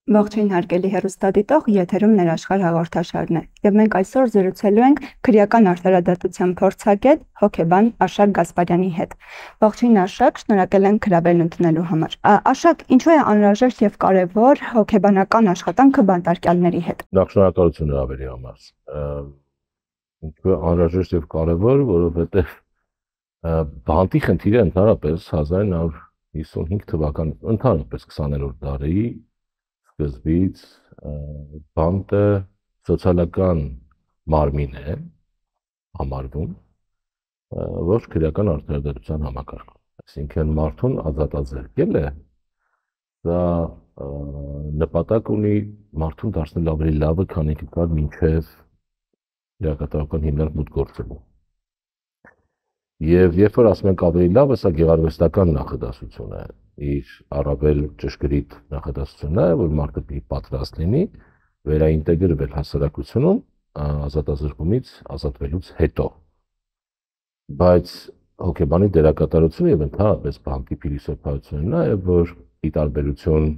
Ողջույն հարգելի հեռուստադիտող, եթերում Ներաշխարհ հաղորդաշարն է, եւ մենք այսօր զրուցելու ենք քրեական արտարադատության փորձագետ, հոգեբան Աշակ Գասպարյանի հետ։ Ողջույն Աշակ, շնորհակալ ենք հրավերն ընդունելու համար։ Աշակ, ինչու է անհրաժեշտ եւ կարեւոր հոգեբանական աշխատանքը բանտարկյալների հետ։ Նախ շնորհակալություն հրավերի համար։ Ինչու է անհրաժեշտ եւ կարեւոր, որովհետեւ բանտի խնդիրը ընդհանրապես 1955 թվականին ընդհանրապես 20-րդ դարի սկզբից բանտը սոցիալական մարմին է համարվում, ոչ քրեական արտարադատության համակարգ։ Այսինքն մարդուն ազատազրկել է, դա նպատակ ունի մարդուն դարձնել ավելի լավը, քան ինքնին մինչև իրակատարական հիմնարկ մուտք գործելու։ Եվ երբ որ ասում ենք ավելի լավը, սա գեղարվեստական նախադասություն է, իր առավել ճշգրիտ նախադասությունն է, որ մարդը պիտի պատրաստ լինի վերաինտեգրվել հասարակությունում ազատազրկումից ազատվելուց հետո։ Բայց հոգեբանի դերակատարությունը եւ ընդհանրապես բանտի փիլիսոփայությունն է, որ ի տարբերություն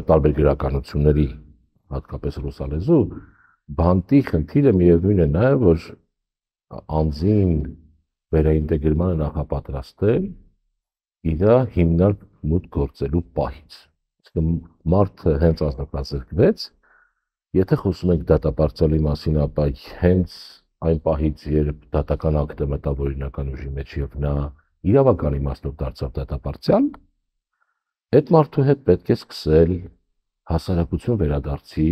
տարբեր գրականությունների, հատկապես ռուսալեզու, բանտի խնդիրը միևնույն է նաեւ, որ անձին վերաինտեգրմանը նախապատրաստել իր հիմնարկ մուտք գործելու պահից։ Այսինքն մարդը հենց ազատազրկվեց, եթե խոսում ենք դատապարտյալի մասին, ապա հենց այն պահից, երբ դատական ակտը մտավ օրինական ուժի մեջ եւ նա իրավական իմաստով դարձավ դատապարտյալ, այդ մարդու հետ պետք է սկսել հասարակություն վերադարձի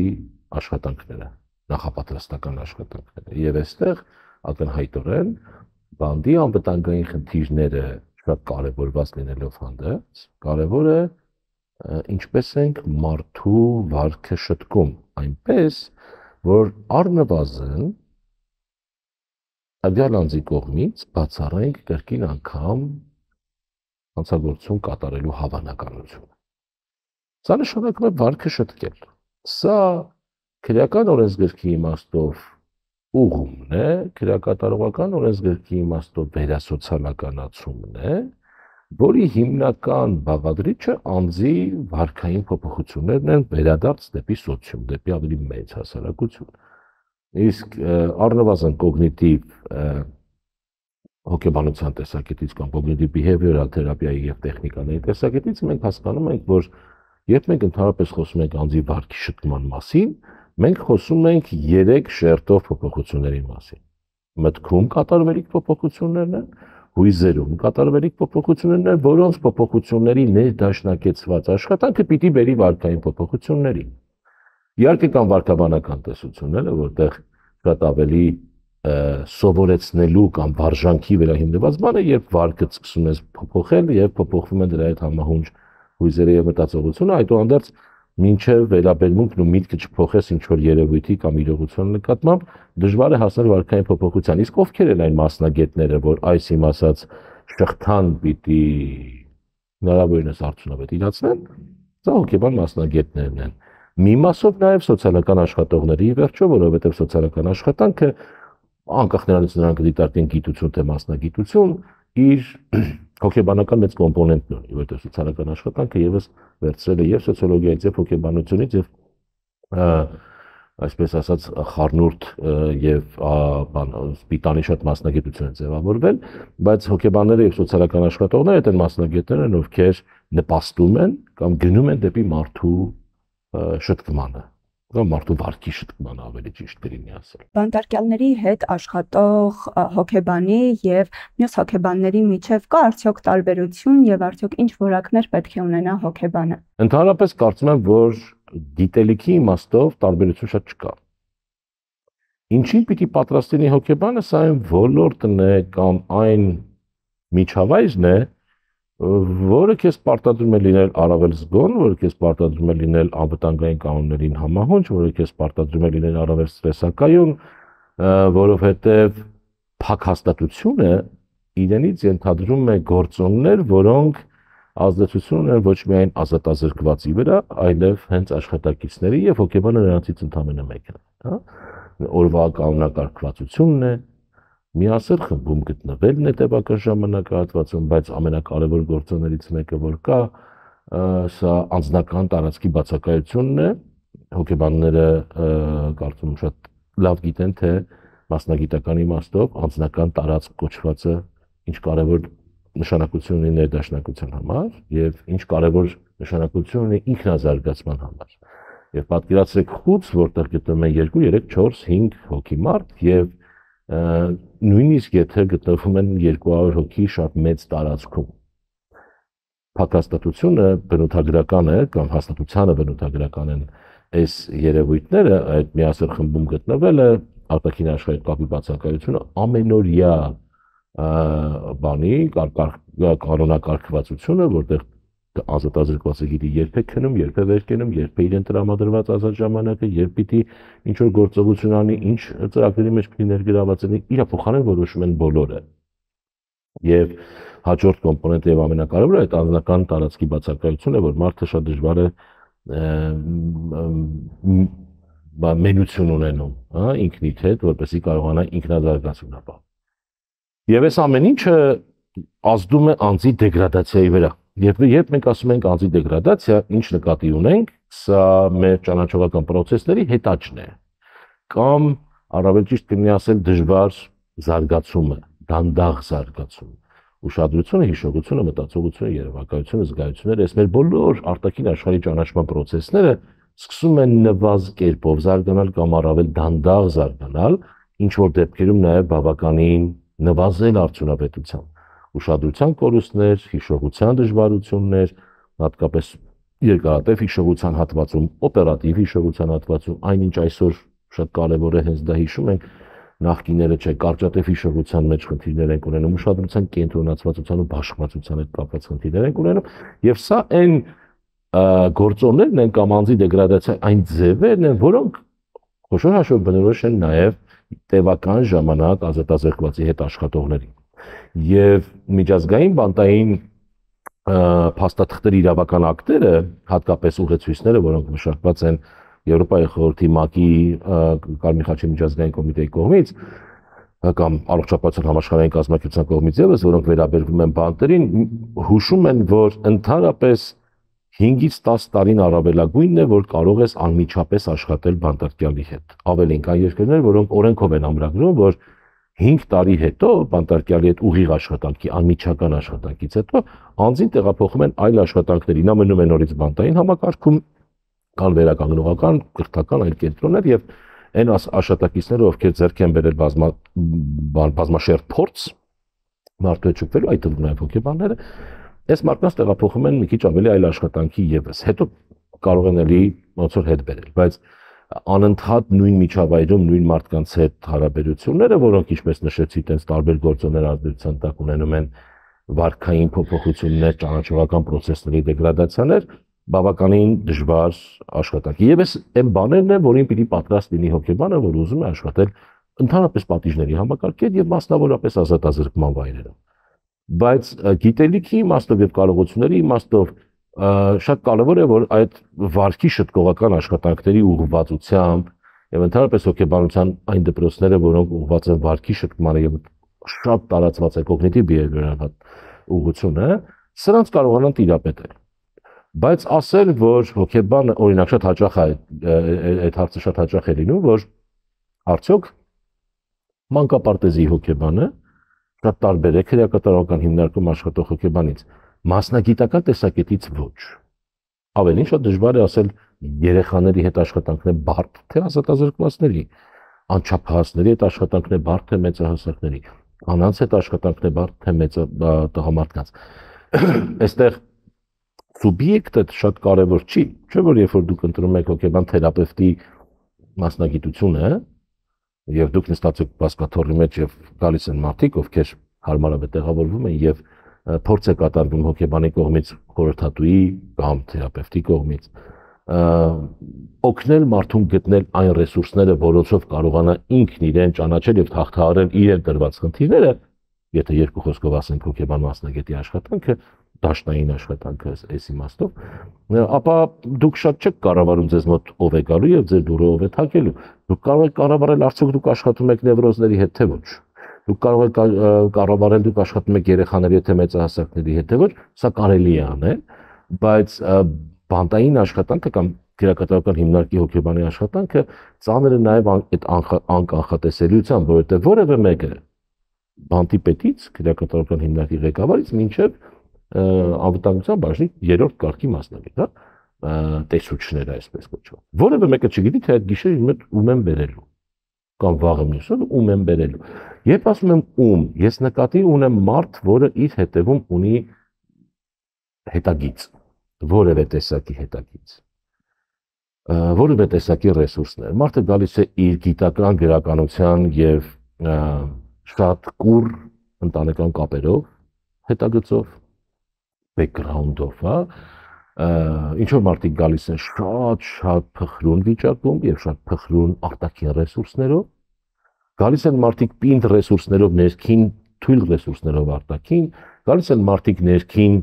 աշխատանքները, նախապատրաստական աշխատանքները։ Եվ այստեղ ակնհայտորեն բանտի անվտանգային խնդիրները շատ կարևորված լինելով հանդերձ, կարևոր է ինչպես ենք մարդու վարքը շտկում, այնպես, որ առնվազն տվյալ անձի կողմից բացառենք կրկին անգամ հանցագործություն կատարելու հավանականությունը։ Սա նշանակում է վարքը շտկել։ Սա քրեական օրենսգրքի իմաստով ուղումն է, քրեակատարողական օրենսգրքի իմաստով վերասոցիալականացումն է, որի հիմնական բաղադրիչը անձի վարքային փոփոխություններն են վերադարձ դեպի սոցիում, դեպի ավելի մեծ հասարակություն։ Իսկ առնվազն կոգնիտիվ հոգեբանության տեսակետից կամ կոգնիտիվ behavioral թերապիայի եւ տեխնիկաների տեսակետից մենք հասկանում ենք, որ երբ մենք ընդհանրապես խոսում ենք անձի վարքի շտկման մասին, մենք խոսում ենք 3 շերտով փոփոխությունների մասին։ Մտքում կատարվելիք փոփոխություններն են, հույզերում կատարվելիք փոփոխություններն են, որոնց փոփոխությունների ներդաշնակեցված աշխատանքը պիտի բերի վարքային փոփոխությունների։ Իհարկե կան վարքաբանական տեսությունները, որտեղ շատ ավելի սովորեցնելու կամ վարժանքի վրա հիմնված բան է, երբ վարքը սկսում ես փոփոխել եւ փոփոխվում են դրա հետ համահունչ հույզերը եւ մտածողությունը, այդուհանդերձ մինչև վերաբերմունքն ու միտքը չփոխես ինչ-որ երևույթի կամ իրողության նկատմամբ դժվար է հասնել վարքային փոփոխության։ Իսկ ովքեր են այն մասնագետները, որ այս իմ ասած շղթան պիտի հնարավորինս արդյունավետ իրացնեն, սա հոգեբան մասնագետներն են։ Մի մասով նաև սոցիալական աշխատողների վերջո, որովհետև սոցիալական աշխատանքը անկախ նրանից նրանք դիտարկեն գիտություն թե մասնագիտություն, իր հոգեբանական մեծ կոմպոնենտն ունի, որովհետև սոցիալական աշխատանքը եւս վերցրել է եւ սոցիոլոգիայից եւ հոգեբանությունից եւ այսպես ասած խառնուրդ եւ սպիտանի շատ մասնագիտություն են ձևավորվել, բայց հոգեբանները եւ սոցիալական աշխատողները այդ են մասնագետներն են, ովքեր նպաստում են կամ գնում են դեպի մարդու շտկմանը, կամ մարդու վարքի շտկմանը ավելի ճիշտ կլինի ասել։ Բանտարկյալների հետ աշխատող հոգեբանի եւ մյուս հոգեբանների միջև կա արդյոք տարբերություն եւ արդյոք ինչ որակներ պետք է ունենա հոգեբանը։ Ընդհանրապես կարծում եմ, որ գիտելիքի իմաստով տարբերություն շատ չկա։ Ինչին պիտի պատրաստ լինի հոգեբանը, սա այն ոլորտն է կամ այն միջավայրն է, որը քեզ պարտադրում է լինել առավել զգոն, որը քեզ պարտադրում է լինել անվտանգային կանոններին համահունչ, որը քեզ պարտադրում է լինել առավել ստրեսակայուն, որովհետև փակ հաստատությունը իրենից ենթադրում է գործոններ, որոնք ազդեցություն ունեն ոչ միայն ազատազրկվածի վրա, այլև հենց աշխատակիցների եւ հոգեբանը նրանցից ընդամենը մեկն է, հա։ Օրվա կանոնակարգվածությունն է, միասեռ խմբում գտնվելն է տևական ժամանակահատվածում, բայց ամենակարևոր գործոններից մեկը որ կա, սա անձնական տարածքի բացակայությունն է, հոգեբանները կարծում եմ շատ լավ գիտեն, թե մասնագիտական իմաստով անձնական տարածք կոչվածը ինչ կարևոր նշանակություն ունի ներդաշնակության համար եւ ինչ կարևոր նշանակություն ունի ինքնազարգացման համար։ Եվ պատկերացրեք խուց, որտեղ գտնվում են 2, 3, 4, 5 հոգի մարդ եւ նույնիսկ եթե գտնվում են 200 հոգի շատ մեծ տարածքում։ Փակաստատությունը բնութագրական է կամ հաստատությանը բնութագրական են այս երևույթները, այդ միասեռ խմբում գտնվելը, արտաքին աշխարհի կապի բացակայությունը ամենօրյա բանի կանոնակարգվածությունը, որտեղ ազատազրկվածը գիտի երբ է քնում, երբ է վեր կենում, երբ է իրեն տրամադրված ազատ ժամանակը, երբ պիտի ինչ որ գործողություն անի, ինչ ծրագրերի մեջ պիտի ներգրաված լինի, իր փոխարեն որոշում են բոլորը։ Եվ հաջորդ կոմպոնենտը եւ ամենակարևորը այդ անձնական տարածքի բացակայությունն է, որ մարդը շատ դժվար է մենություն ունենում, հա, ինքնիդ հետ, որպեսզի կարողանա ինքնազարգացում ապահովել։ Եվ այս ամեն ինչը ազդում է անձի դեգրադացիայի վրա։ Երբ մենք ասում ենք անձի դեգրադացիա, ինչ նկատի ունենք, սա մեր ճանաչողական process-ների հետաճն է, կամ առավել ճիշտ կլինի ասել դժվար զարգացումը, դանդաղ զարգացում, ուշադրությունը, հիշողությունը, մտածողությունը, երևակայությունը, զգայությունները, այս մեր բոլոր արտաքին աշխարհի ճանաչման process-ները սկսում են նվազ կերպով զարգանալ կամ առավել դանդաղ զարգանալ, ինչ որ դեպքերում նաև բավականին նվազել արդյունավետությամբ, ուշադրության կորուստներ, հիշողության դժվարություններ, հատկապես երկարատև հիշողության հատվածում, օպերատիվ հիշողության հատվածում, այնինչ այսօր շատ կարևոր է հենց դա հիշում ենք, նախկիները չէ, կարճատև հիշողության մեջ խնդիրներ են ունենում, ուշադրության կենտրոնացվածության ու բաշխվածության հետ կապված խնդիրներ են ունենում, եւ սա այն գործոններն են կամ անձի դեգրադացիա այն ձևերն են, որոնք խոշոր հաշվով բնորոշ են նաև տևական ժամանակ ազատազրկվածի հետ աշխատողներին։ Եվ միջազգային բանտային փաստաթղթերի իրավական ակտերը, հատկապես ուղեցույցները, որոնք մշակված են Եվրոպայի խորհրդի ՄԱԿ-ի Կարմիր խաչի միջազգային կոմիտեի կողմից կամ առողջապահության համաշխարհային կազմակերպության կողմից եւս, որոնք վերաբերվում են բանտերին, հուշում են, որ ընդհանրապես 5-ից 10 տարին առավելագույնն է, որ կարող ես անմիջապես աշխատել բանտարկյալի հետ։ Ավելին կան երկրներ, որոնք օրենքով են ամրագրում, որ 5 տարի հետո բանտարկյալի հետ ուղիղ աշխատանքի, անմիջական աշխատանքից հետո անձին տեղափոխում են այլ աշխատանքների, նա մնում է նորից բանտային համակարգում, կան վերականգնողական, կրթական այլ կենտրոններ եւ այն աշխատակիցները, ովքեր ձեռք են բերել բազմաշերտ փորձ մարդու հետ շփվելու, այդ թվում նաև հոգեբանները, այս մարդկանց տեղափոխում են մի քիչ ավելի այլ աշխատանքի եւս։ Հետո կարող են էլի ոնց որ հետ բերել, բայց անընդհատ նույն միջավայրում նույն մարդկանց հետ հարաբերությունները, որոնք ինչպես նշեցի, տենց տարբեր գործոններ ազդեցության տակ ունենում են վարքային փոփոխություններ, ճանաչողական process-ների դեգրադացիաներ, բավականին դժվար աշխատանքի։ Եվ այն բաներն են, որին պիտի պատրաստ լինի հոգեբանը, որ ուզում է աշխատել ընդհանրապես պատիժների համակարգեր եւ մասնավորապես ազատազրկման վայրերում։ Բայց գիտելիքի իմաստով եւ կարողությունների իմաստով շատ կարևոր է, որ այդ վարքի շտկողական աշխատանքների ուղղվածությամբ եւ ընդհանրապես հոգեբանության այն դպրոցները, որոնք ուղղված են վարքի շտկմանը եւ շատ տարածված է կոգնիտիվ բիհևիորալ ուղղությունը, սրանց կարողանան տիրապետել։ Բայց ասել, որ հոգեբանը օրինակ շատ հաճախ է այդ հարցը շատ հաճախ է լինում, որ արդյոք մանկապարտեզի հոգեբանը շատ տարբեր է քրեակատարողական հիմնարկում աշխատող հոգեբանից, մասնագիտական տեսակետից ոչ։ Ավելին շատ դժվար է ասել երեխաների հետ աշխատանքն է բարդ թե ազատազրկվածների, անչափահասների հետ աշխատանքն է բարդ թե մեծահասակների, կանանց հետ աշխատանքն է բարդ թե տղամարդկանց։ Այստեղ սուբյեկտը շատ կարևոր չի, չէ՞ որ երբ որ դուք ընտրում եք հոգեբան թերապևտի մասնագիտությունը, եւ դուք նստած եք բասկաթոռի մեջ եւ գալիս են մարդիկ, ովքեր հարմարավետ տեղավորվում են եւ փորձ է կատարվում հոգեբանի կողմից, խորհրդատուի կամ թերապևտի կողմից, օգնել մարդուն գտնել այն ռեսուրսները, որոնցով կարողանա ինքն իրեն ճանաչել եւ հաղթահարել իրեն դրված խնդիրները, եթե երկու խոսքով ասենք հոգեբան մասնագետի աշխատանքը, դաշնային աշխատանքը այս իմաստով, ապա դուք շատ չեք կառավարում ձեզ մոտ ով է գալու եւ ձեր դուրը ով է թակելու։ Դուք կարող եք կառավարել արդյոք դուք աշխատում եք նևրոզների հետ թե ոչ։ Դուք կարող եք կառավարել դուք աշխատում եք երեխաների հետ թե մեծահասակների հետ թե ոչ, սա կարելի է անել, բայց բանտային աշխատանքը կամ քրեակատարական հիմնարկի հոգեբանի աշխատանքը ծանր է նաև այդ անկանխատեսելիությամբ, որովհետև որևէ մեկը բանտի պետից, քրեակատարական հիմնարկի ղեկավարից մինչև անվտանգության բաժնի 3-րդ կարգի մասնագետ, հա, տեսուչները այսպես կոչված։ Որևէ մեկը չգիտի, թե այդ գիշեր իմ հետ ում եմ բերելու կամ վաղը մյուսը ում եմ բերելու։ Երբ ասում եմ ում, ես նկատի ունեմ մարդ, որը իր հետևում ունի հետագիծ, որևէ տեսակի հետագիծ, որևէ տեսակի ռեսուրսներ։ Մարդը գալիս է իր գիտական գրականության եւ շատ կուռ ընտանեկան կապերով, հետագծով, background-ով, հա, ինչ որ մարդիկ գալիս են շատ փխրուն վիճակում եւ շատ փխրուն արտաքին ռեսուրսներով, գալիս են մարդիկ պինդ ռեսուրսներով ներքին, թույլ ռեսուրսներով արտաքին, գալիս են մարդիկ ներքին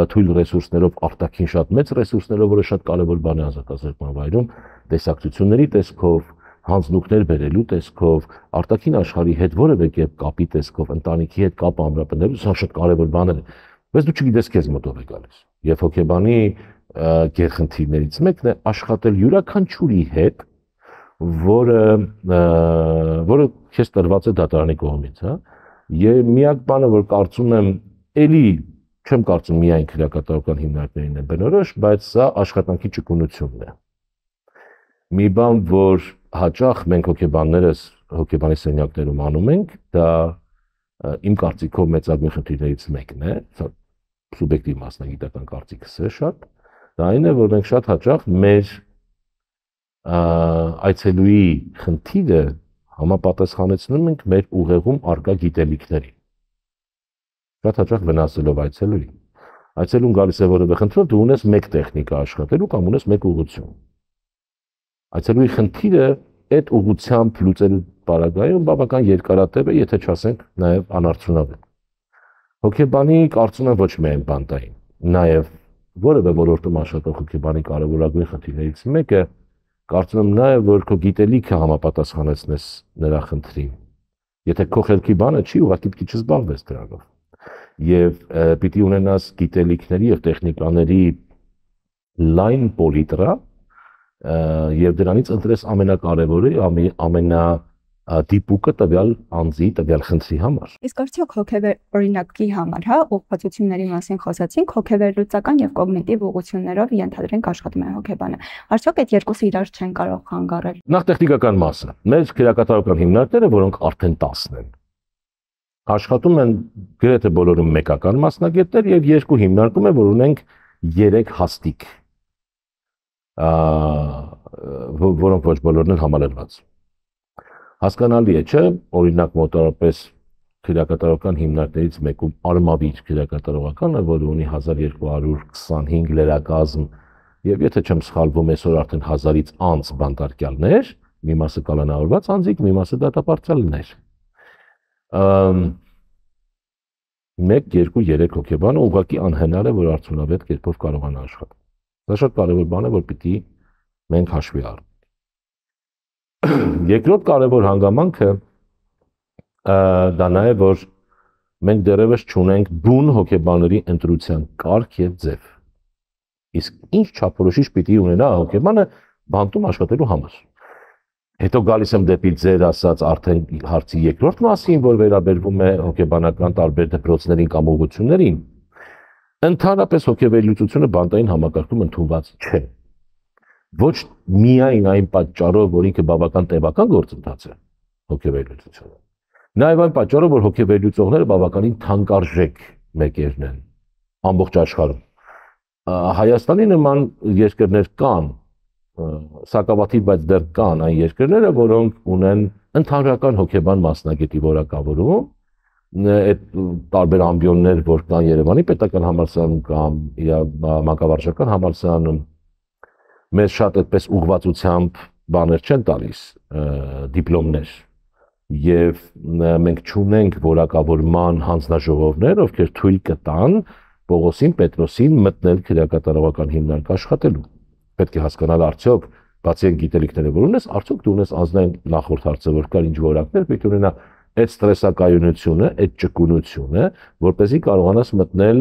թույլ ռեսուրսներով արտաքին շատ մեծ ռեսուրսներով, որը շատ կարևոր բան է ազատազրկման վայրում, տեսակցությունների տեսքով, հանձնուկներ բերելու տեսքով, արտաքին աշխարհի հետ որևէ կերպ կապի տեսքով, ընտանիքի հետ կապ ամրապնդելու, սա շատ կարևոր բաներ են, բայց դու չգիտես քեզ մոտով է գալիս։ Եվ հոգեբանի գերխնդիրներից մեկն է աշխատել յուրաքանչյուրի հետ, որը քեզ տրված է դատարանի կողմից, հա։ Եվ միակ բանը, որ կարծում եմ, էլի չեմ կարծում միայն քրեակատարական հիմնարկներին է բնորոշ, բայց սա աշխատանքի ճկունությունն է։ Մի բան, որ հաճախ մենք հոգեբաններս հոգեբանի սենյակներում անում ենք, դա իմ կարծիքով մեծագույն խնդիրներից մեկն է, սա սուբյեկտիվ մասնագիտական կարծիքս է շատ, դա այն է, որ մենք շատ հաճախ մեր այցելուի խնդիրը համապատասխանեցնում ենք մեր ուղեղում առկա գիտելիքներին։ Շատ հաճախ վնասելով այցելուին։ Այցելուն գալիս է որևէ խնդրով, դու ունես մեկ տեխնիկա աշխատելու կամ ունես մեկ ուղղություն։ Այցելուի խնդիրը այդ ուղղությամբ լուծելու պարագայում բավական երկարատև է, եթե չասենք նաև անարդյունավետ։ Հոգեբանի կարծում եմ ոչ միայն բանտային, նաև որևէ ոլորտում աշխատող հոգեբանի կարևորագույն խնդիրներից մեկը կարծում եմ նաև որ քո գիտելիքը համապատասխանեցնես նրա խնդրին։ Եթե քո խելքի բանը չի, ուղղակի պիտի չզբաղվես դրանով։ Եվ պիտի ունենաս գիտելիքների եւ տեխնիկաների լայն պոլիտրա եւ դրանից ընտրես ամենակարևորը, ամենադիպուկը տվյալ անձի, տվյալ խնդրի համար։ Իսկ արդյոք հոգեվեր օրինակի համար, հա, ուղղվածությունների մասին խոսացինք, հոգեվերլուծական եւ կոգնիտիվ ուղղություններով ենթադրենք աշխատում է հոգեբանը։ Արդյոք այդ երկուսը իրար չեն կարող խանգարել։ Նախ տեխնիկական մասը։ Մեր քրեակատարական հիմնարկները, որոնք արդեն 10 են, աշխատում են գրեթե բոլորում մեկական մասնագետներ եւ երկու հիմնարկում է, որ ունենք 3 հաստիկ, որոնք ոչ բոլորն են համալրված։ Հասկանալի է, չէ՞, օրինակ մոտավորապես քրեակատարական հիմնարկներից մեկում Արմավիր քրեակատարողականը, որը ունի 1225 լրակազմ եւ եթե չեմ սխալվում, այսօր արդեն 1000-ից անց բանտարկյալներ, մի մասը կալանավորված անձիկ, մի մասը դատապարտյալներ։ 1, 2, 3 հոգեբանը ուղղակի անհնար է, որ արդյունավետ կերպով կարողանա աշխատել։ Դա շատ կարևոր բան է, որ պիտի մենք հաշվի առնենք։ Երկրորդ կարևոր հանգամանքը դա նա է, որ մենք դեռևս չունենք բուն հոգեբանների ընտրության կարգ եւ ձև։ Իսկ ինչ չափորոշիչ պիտի ունենա հոգեբանը բանտում աշխատելու համար։ Հետո գալիս եմ դեպի ձեր ասած արդեն հարցի երկրորդ մասին, որ վերաբերվում է հոգեբանական տարբեր դպրոցներին կամ ուղղություններին։ Ընդհանրապես հոգեվերլուծությունը բանտային համակարգում ընդունված չէ։ Ոչ միայն այն պատճառով, որ ինքը բավական տևական գործընթաց է հոգեվերլուծությունը։ Նաև այն պատճառով, որ հոգեվերլուծողները բավականին թանկարժեք մեկերն են ամբողջ աշխարհում։ Հայաստանի նման երկրներ կան, սակավաթիվ, բայց դեռ կան այն երկրները, որոնք ունեն ընդհանրական հոգեբան մասնագետի որակավորում, այդ տարբեր ամբիոններ, որ կան Երևանի պետական համալսարանում կամ մանկավարժական համալսարանում, մեզ շատ այդպես ուղղվածությամբ բաներ չեն տալիս, դիպլոմներ, եւ մենք չունենք որակավորման հանձնաժողովներ, ովքեր թույլ կտան Պողոսին, Պետրոսին մտնել քրեակատարողական հիմնարկ աշխատելու։ Պետք է հասկանալ արդյոք բացի այն գիտելիքները, որ ունես, արդյոք դու ունես ազնային նախորդ հարցը, որ կար ինչ որակներ, պետք է ունենա այդ ստրեսակայունությունը, այդ ճկունությունը, որպեսզի կարողանաս մտնել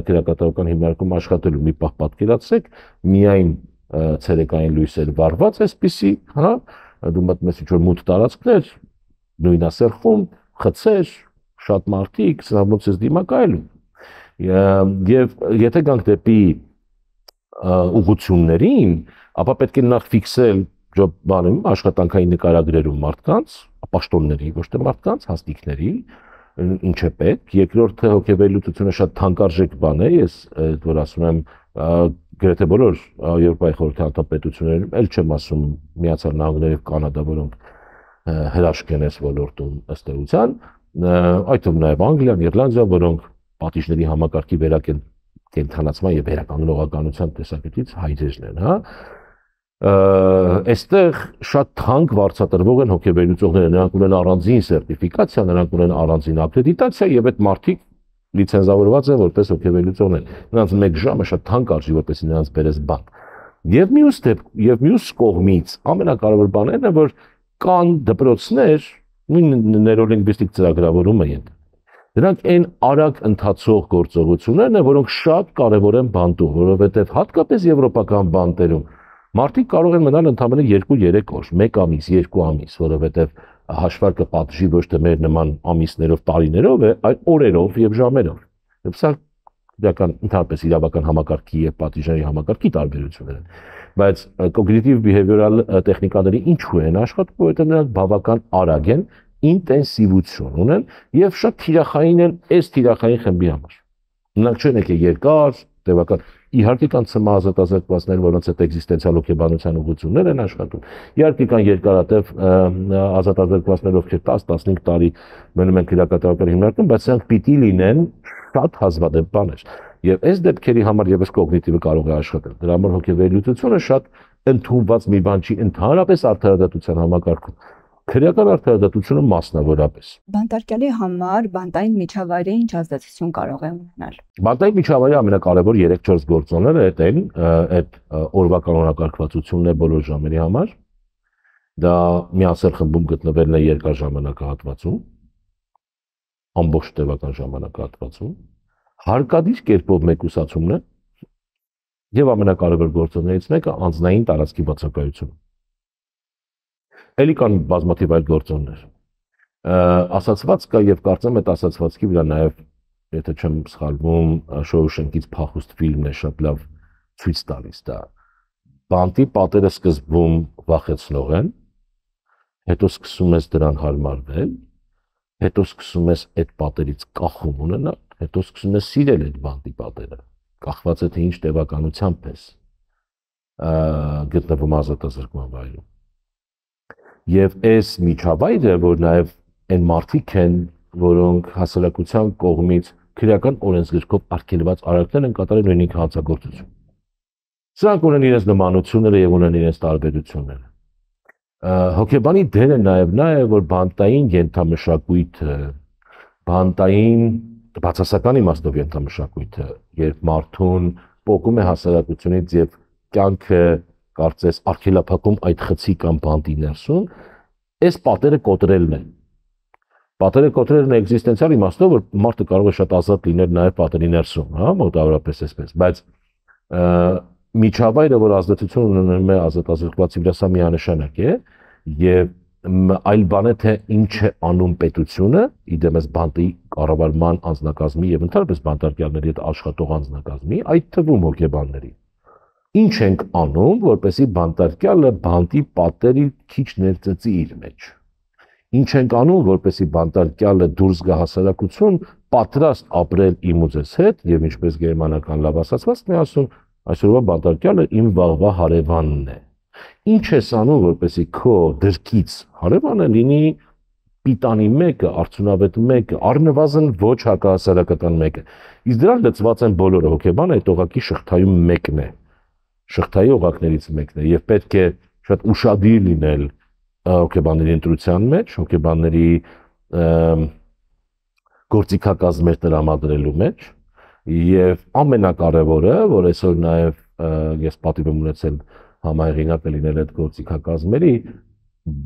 քրեակատարական հիմնարկում աշխատելու։ Մի պահ պատկերացրեք, միայն ցերեկային լույսեր վառված, այսպիսի, հա, դու մտնում ինչ-որ մութ տարածքներ, նույնասեռխում, խցեր, շատ մարդիկ, սրանց ես դիմակայելու։ Եվ եթե գանք դեպի ուղղություններին, ապա պետք է նախ ֆիքսել աշխատանքային նկարագրերում մարդկանց, պաշտոնների, ոչ թե մարդկանց, հաստիկների, ինչ է պետք։ Երկրորդը հոգեվերլուծությունը շատ թանկարժեք բան է, ես որ ասում եմ, գրեթե բոլոր Եվրոպայի խորհրդի անդամ պետություններում, էլ չեմ ասում Միացյալ Նահանգները եւ Կանադա, որոնք հրաշք են այս ոլորտում ըստ էության, այդ թվում նաև Անգլիան, Իռլանդիան, որոնք պատիժների համակարգի կենթանացման եւ վերականգնողականության տեսակետից հայրերն են, հա։ Այստեղ շատ թանկ վարձատրվող են հոգեվերլուծողները, նրանք ունեն առանձին սերտիֆիկացիա, նրանք ունեն առանձին ակրեդիտացիա եւ այդ մարդիկ լիցենզավորված են որպես հոգեվերլուծողներ։ Նրանց 1 ժամը շատ թանկ արժի, որպեսզի նրանց բերես բան։ Եվ մյուս կողմից ամենակարևոր բանն է, որ կան դպրոցներ, նույն նեյրոլինգվիստիկ ծրագրավորումը են։ Դրանք այն արագ ընթացող գործողություններն են, որոնք շատ կարևոր են բանտում, որովհետեւ հատկապես եվրոպական բանտերում մարդիկ կարող են մնալ ընդամենը 2-3 օր, 1 ամիս, 2 ամիս, որովհետեւ հաշվարկը պատժի ոչ թե մեր նման ամիսներով, տարիներով է, այլ օրերով եւ ժամերով։ Եվ սա ընդհանրապես իրավական համակարգի եւ պատիժների համակարգի տարբերություններ են։ Բայց cognitive behavioral տեխնիկաների ինչու են աշխատում, որովհետեւ նրանք բավական արագ են, ինտենսիվություն ունեն եւ շատ թիրախային են այս թիրախային խմբի համար։ Նրանք չեն եկել երկար, տևական, իհարկե կան ցմահազատազրկվածներ, որոնց հետ էգզիստենցիալ հոգեբանության ուղղություններ են աշխատում։ Իհարկե կան երկարատև ազատազրկվածներ, ովքեր 10-15 տարի մնում են քրեակատարական հիմնարկում, բայց սրանք պիտի լինեն շատ հազվադեպ բաներ։ Եվ այս դեպքերի համար եւս կոգնիտիվը կարող է աշխատել։ Դրա համար հոգեվերլուծությունը շատ ընդունված մի բան չի ընդհանրապես արդարադատության համակարգում։ Քրեական արդարադատությունը մասնավորապես։ Բանտարկյալի համար բանտային միջավայրը ինչ ազդեցություն կարող է ունենալ։ Բանտային միջավայրի ամենակարևոր 3-4 գործոնները այդ օրվա կանոնակարգվածությունն է բոլոր ժամերի համար։ Դա միասեռ խմբում գտնվելն է երկար ժամանակահատվածում, ամբողջ տևական ժամանակահատվածում, հարկադիր կերպով մեկուսացումն է եւ ամենակարևոր գործոններից մեկը անձնային տարածքի բացակայությունը։ Էլի կան բազմաթիվ այլ գործոններ։ Ասացված կա եւ կարծեմ այդ ասացվածքի վրա նաեւ, եթե չեմ սխալվում, Շոուշենկից փախուստ ֆիլմն է շատ լավ ցույց տալիս դա։ Բանտի պատերը սկզբում վախեցնող են, հետո սկսում ես դրան հարմարվել, հետո սկսում ես այդ պատերից կախում ունենալ, հետո սկսում ես սիրել այդ բանտի պատերը։ Կախված է թե ինչ տևականությամբ ես գտնվում ազատազրկման վայրում։ Եվ այս միջավայրը, որ նաև այն մարդիկ են, որոնք հասարակության կողմից քրեական օրենսգրքով արգելված արարքներ են կատարել նույնիսկ հանցագործություն։ Սրանք ունեն իրենց նմանությունները եւ ունեն իրենց տարբերությունները։ Հոգեբանի դերը նաև նա է, որ բանտային ենթամշակույթը, բանտային բացասական իմաստով ենթամշակույթը, երբ մարդուն պոկում է հասարակությունից եւ կյանքը կարծես արգելափակում այդ խցի կամ բանտի ներսում, այս պատերը կոտրելն է։ Պատերը կոտրելն է էգզիստենցիալ իմաստով, որ մարդը կարող է շատ ազատ լինել նաև պատերի ներսում, հա, մոտավորապես այսպես, բայց միջավայրը, որ ազդեցություն ունենում է ազատազրկվածի վրա, սա միանշանակ է, եւ այլ բան է թե ինչ է անում պետությունը, իդեմս բանտի կառավարման անձնակազմի եւ ընդհանրապես բանտարկյալների հետ աշխատող անձնակազմի, այդ թվում հոգեբանների։ Ինչ ենք անում, որպեսզի բանտարկյալը բանտի պատերի քիչ ներծծի իր մեջ։ Ինչ ենք անում, որպեսզի բանտարկյալը դուրս գա հասարակություն, պատրաստ ապրել իմ ու ձեզ հետ, եւ ինչպես գերմանական լավ ասացվածքն է ասում, այսօրվա բանտարկյալը իմ վաղվա հարևանն է։ Ինչ ես անում, որպեսզի քո դրկից հարևանը լինի պիտանի մեկը, արդյունավետ մեկը, առնվազն ոչ հակահասարակական մեկը։ Իսկ դրան լծված են բոլորը, հոգեբանը այդ օղակի շղթայում մեկն է։ Շղթայի օղակներից մեկն է եւ պետք է շատ ուշադիր լինել հոգեբանների ընտրության մեջ, հոգեբանների գործիքակազմեր տրամադրելու մեջ եւ ամենակարևորը, որ այսօր նաեւ ես պատիվ եմ ունեցել համահեղինակ լինել այդ գործիքակազմերի,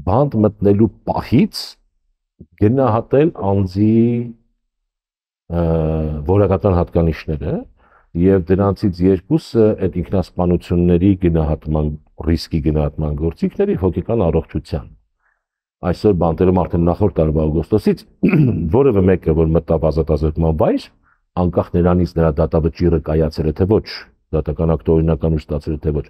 բանտ մտնելու պահից գնահատել անձի որակական հատկանիշները եւ դրանցից երկուսը այդ ինքնասպանությունների գնահատման ռիսկի գնահատման գործիքների հոգեկան առողջության։ Այսօր բանտերում արդեն նախորդ տարվա օգոստոսից որևէ մեկը որ մտավ ազատազրկման վայր, անկախ նրանից նրա դատավճիռը կայացել է թե ոչ, դատական ակտը օրինական ու ստացել է թե ոչ,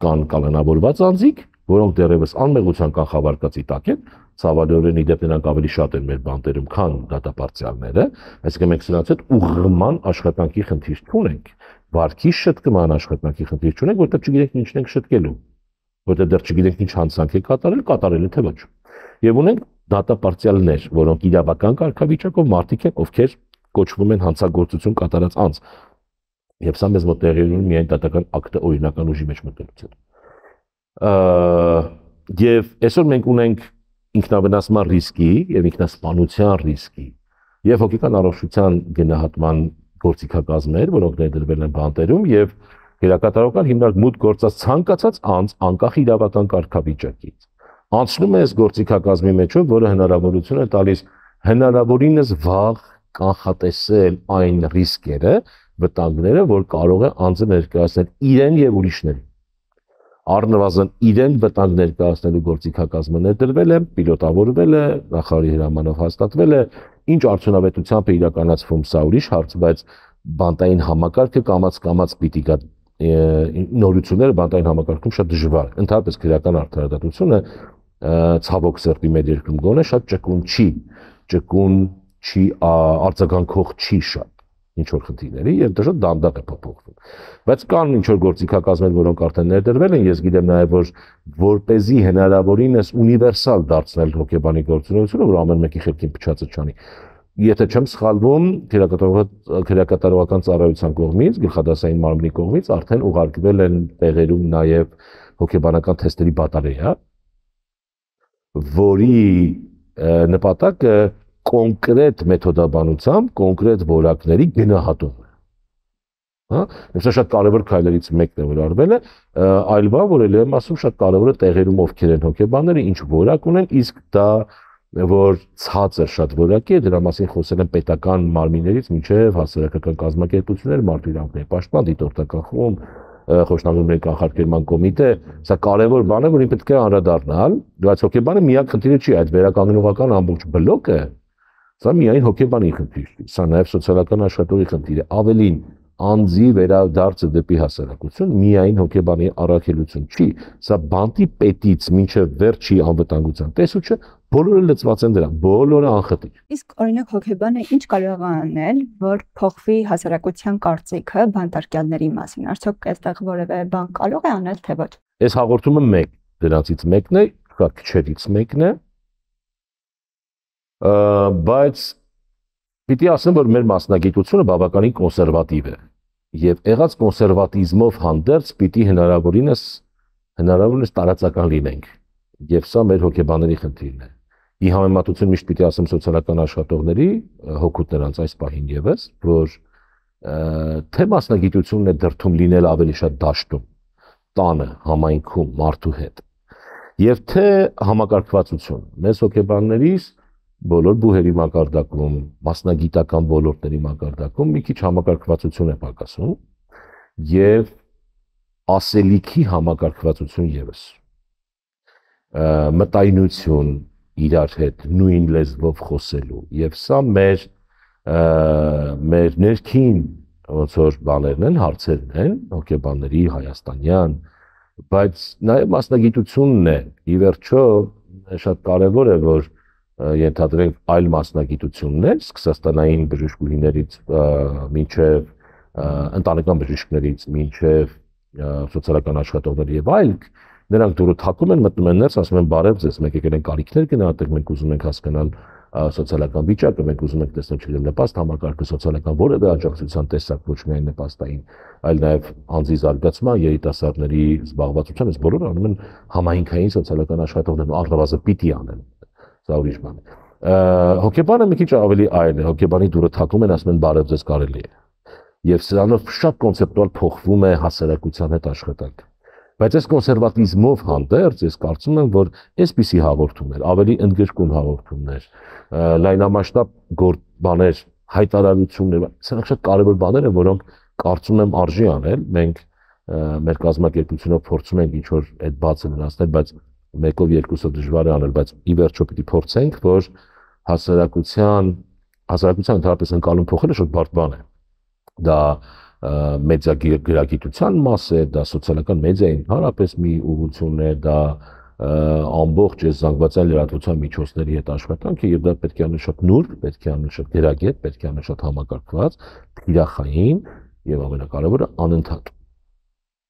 կան կալանավորված անձիկ, որոնք դեռևս անմեղության կանխավարկածի տակ են, ցավալիորեն իդեպ նրանք ավելի շատ են մեր բանտերում, քան դատապարտյալները, այսինքն մենք սրանց հետ ուղղման աշխատանքի խնդիր չունենք, վարքի շտկման աշխատանքի խնդիր չունենք, որտեղ չգիտենք ինչն ենք շտկելու, որտեղ դեռ չգիտենք ինչ հանցանք է կատարել է թե ոչ։ Եվ ունենք դատապարտյալներ, որոնք իրավական կարգավիճակով մարդիկ են, ովքեր կոչվում են հանցագործություն կատարած անձ։ Եվ սա մեզ մոտ տեղի ունի միայն դատական ակտը օրինական ուժի մեջ մտնելուց հետո։ Եվ այսօր մենք ունենք ինքնավնասման ռիսկի եւ ինքնասպանության ռիսկի եւ հոգեկան առողջության գնահատման գործիքակազմեր, որոնք ներդրվել են բանտերում եւ գերակատարական հիմնարկ մուտք գործած ցանկացած անձ անկախ իրավական կարգավիճակից անցնում է այս գործիքակազմի մեջով, որը հնարավորություն է տալիս հնարավորինս վաղ կանխատեսել այն ռիսկերը, վտանգները, որ կարող է անձը ներկայացնել իրեն եւ ուրիշներին։ Առնվազն իրեն վտանգ ներկայացնելու գործիքակազմը ներդրվել է, պիլոտավորվել է, նախարարի հրամանով հաստատվել է, ինչ արդյունավետությամբ է իրականացվում սա ուրիշ հարց, բայց բանտային համակարգը կամաց պիտի գա նորությունները բանտային համակարգում շատ դժվար է։ Ընդհանրապես քրեական արդարադատությունը ցավոք սրտի մեր երկրում գոնե շատ ճկուն չի արձագանքող չի շատ ինչ որ խնդիրների եւ դա շատ դանդաղ է փոփոխվում։ Բայց կան ինչ որ գործիքակազմեր, որոնք արդեն ներդրվել են, ես գիտեմ նաեւ որ որպեսզի հնարավորինս ունիվերսալ դարձնել հոգեբանի գործունեությունը, որ ամեն մեկի խելքին փչացը չանի։ Եթե չեմ սխալվում, քրեակատարողական ծառայության կողմից, գլխադասային մարմնի կողմից արդեն ուղարկվել են տեղերում նաեւ հոգեբանական թեստերի բատարեա, որի նպատակը կոնկրետ մեթոդաբանությամբ կոնկրետ որակների գնահատումն է։ Հա, սա շատ կարևոր քայլերից մեկն է, որ արվել է, այլ բան, որ ելի եմ ասում, շատ կարևոր է տեղերում ովքեր են հոգեբանները, ինչ որակ ունեն, իսկ դա որ ցածր շատ որակի է, դրա մասին խոսել են պետական մարմիններից մինչև հասարակական կազմակերպություններ, մարդու իրավունքների պաշտպան, դիտորդական խումբ, խոշտանգումների կանխարգելման կոմիտե, սա կարևոր բան է, որին պետք է անդրադառնալ, բայց հոգեբանը միակ խնդիրը չի, այդ վերականգնողական ամբողջ բլոկը, սա միայն հոգեբանի խնդիր չի, սա նաև սոցիալական աշխատողի խնդիր է, ավելին անձի վերադարձը դեպի հասարակություն միայն հոգեբանի առաքելություն չի, սա բանտի պետից մինչև վերջի անվտանգության տեսուչը բոլորը լծված են դրա, բոլորը անխտիր։ Իսկ օրինակ հոգեբանը ինչ կարող է անել, որ փոխվի հասարակության կարծիքը բանտարկյալների մասին, արդյոք այստեղ որևէ բան կարող է անել թե ոչ։ Այս հաղորդումը մեկ դրանցից մեկն է, շատ քչերից մեկն է, բայց պիտի ասեմ, որ մեր մասնագիտությունը բավականին կոնսերվատիվ է եւ եղած կոնսերվատիզմով հանդերձ պիտի հնարավորինս տարածական լինենք եւ սա մեր հոգեբանների խնդիրն է։ Ի համեմատություն միշտ պիտի ասեմ սոցիալական աշխատողների հոգուտ նրանց այս պահին եւս, որ թե մասնագիտությունն է դրթում լինել ավելի շատ դաշտում, տանը, համայնքում, մարդու հետ, եւ թե համակարգվածություն։ Մեզ հոգեբաններից բոլոր բուհերի մակարդակում, մասնագիտական ոլորտների մակարդակում մի քիչ համակարգվածություն է պակասում եւ ասելիքի համակարգվածություն եւս։ Մտայնություն իրար հետ նույն լեզվով խոսելու եւ սա մեր ներքին ոնց որ բաներն են, հարցերն են, հոգեբանների հայաստանյան, բայց նաեւ մասնագիտությունն է, ի վերջո շատ կարեւոր է որ ենթադրենք այլ մասնագիտություններ, սկսած տնային բժշկուհիներից մինչև ընտանեկան բժիշկներից, մինչև սոցիալական աշխատողներ եւ այլ, նրանք դուրը թակում են, մտնում են ներս, ասում են բարև ձեզ, մենք եկել ենք կարիքներ գնահատենք, մենք ուզում ենք հասկանալ սոցիալական վիճակը, մենք ուզում ենք տեսնել չգիտեմ նպաստ համակարգը, սոցիալական որևէ աջակցության տեսակ, ոչ միայն նպաստային, այլ նաեւ անձի զարգացման, երիտասարդների զբաղվածության, այս բոլորը անում են համայնքային սոցիալական աշխատողներ, առնվազն պիտի անեն։ Դա ուրիշ բան է։ Հոգեբանը մի քիչ ավելի այլ է, հոգեբանի դուրը թակում են, ասում են բարև ձեզ կարելի է։ Եվ սրանով շատ կոնցեպտուալ փոխվում է հասարակության հետ աշխատանքը։ Բայց այս կոնսերվատիզմով հանդերձ ես կարծում եմ, որ այսպիսի հաղորդումներ, ավելի ընդգրկուն հաղորդումներ, լայնամասշտաբ բաներ, հայտարարություններ, սրանք շատ կարևոր բաներ են, որոնք կարծում եմ արժի անել։ Մենք մեր կազմակերպությունով փորձում ենք ինչ-որ այդ բացը վնասնել, բայց մեկով երկուսով դժվար է անել, բայց ի վերջո պիտի փորձենք, որ հասարակության ընդհանրապես ընկալում փոխելը շատ բարդ բան է։ Դա մեդիա գրագիտության մաս է, դա սոցիալական մեդիայի ընդհանրապես մի ուղղություն է, դա ամբողջ այս զանգվածային լրատվության միջոցների հետ աշխատանքը եւ դա պետք է անել շատ նուրբ, պետք է անել շատ գրագետ, պետք է անել շատ համակարգված, թիրախային եւ ամենակարևորը անընդհատ։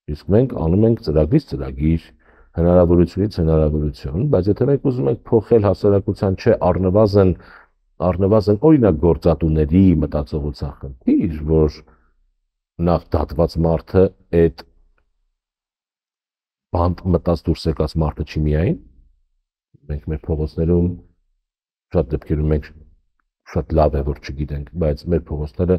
Իսկ մենք անում ենք ծրագրից ծրագիր, հնարավորությունից հնարավորություն, բայց եթե մենք ուզում ենք փոխել հասարակության չէ առնվազն օրինակ գործատուների մտածողության խնդիր, որ նախ դատված մարդը այդ բանտ մտած դուրս եկած մարդը չի միայն, մենք մեր փողոցներում շատ դեպքերում մենք շատ լավ է որ չգիտենք, բայց մեր փողոցները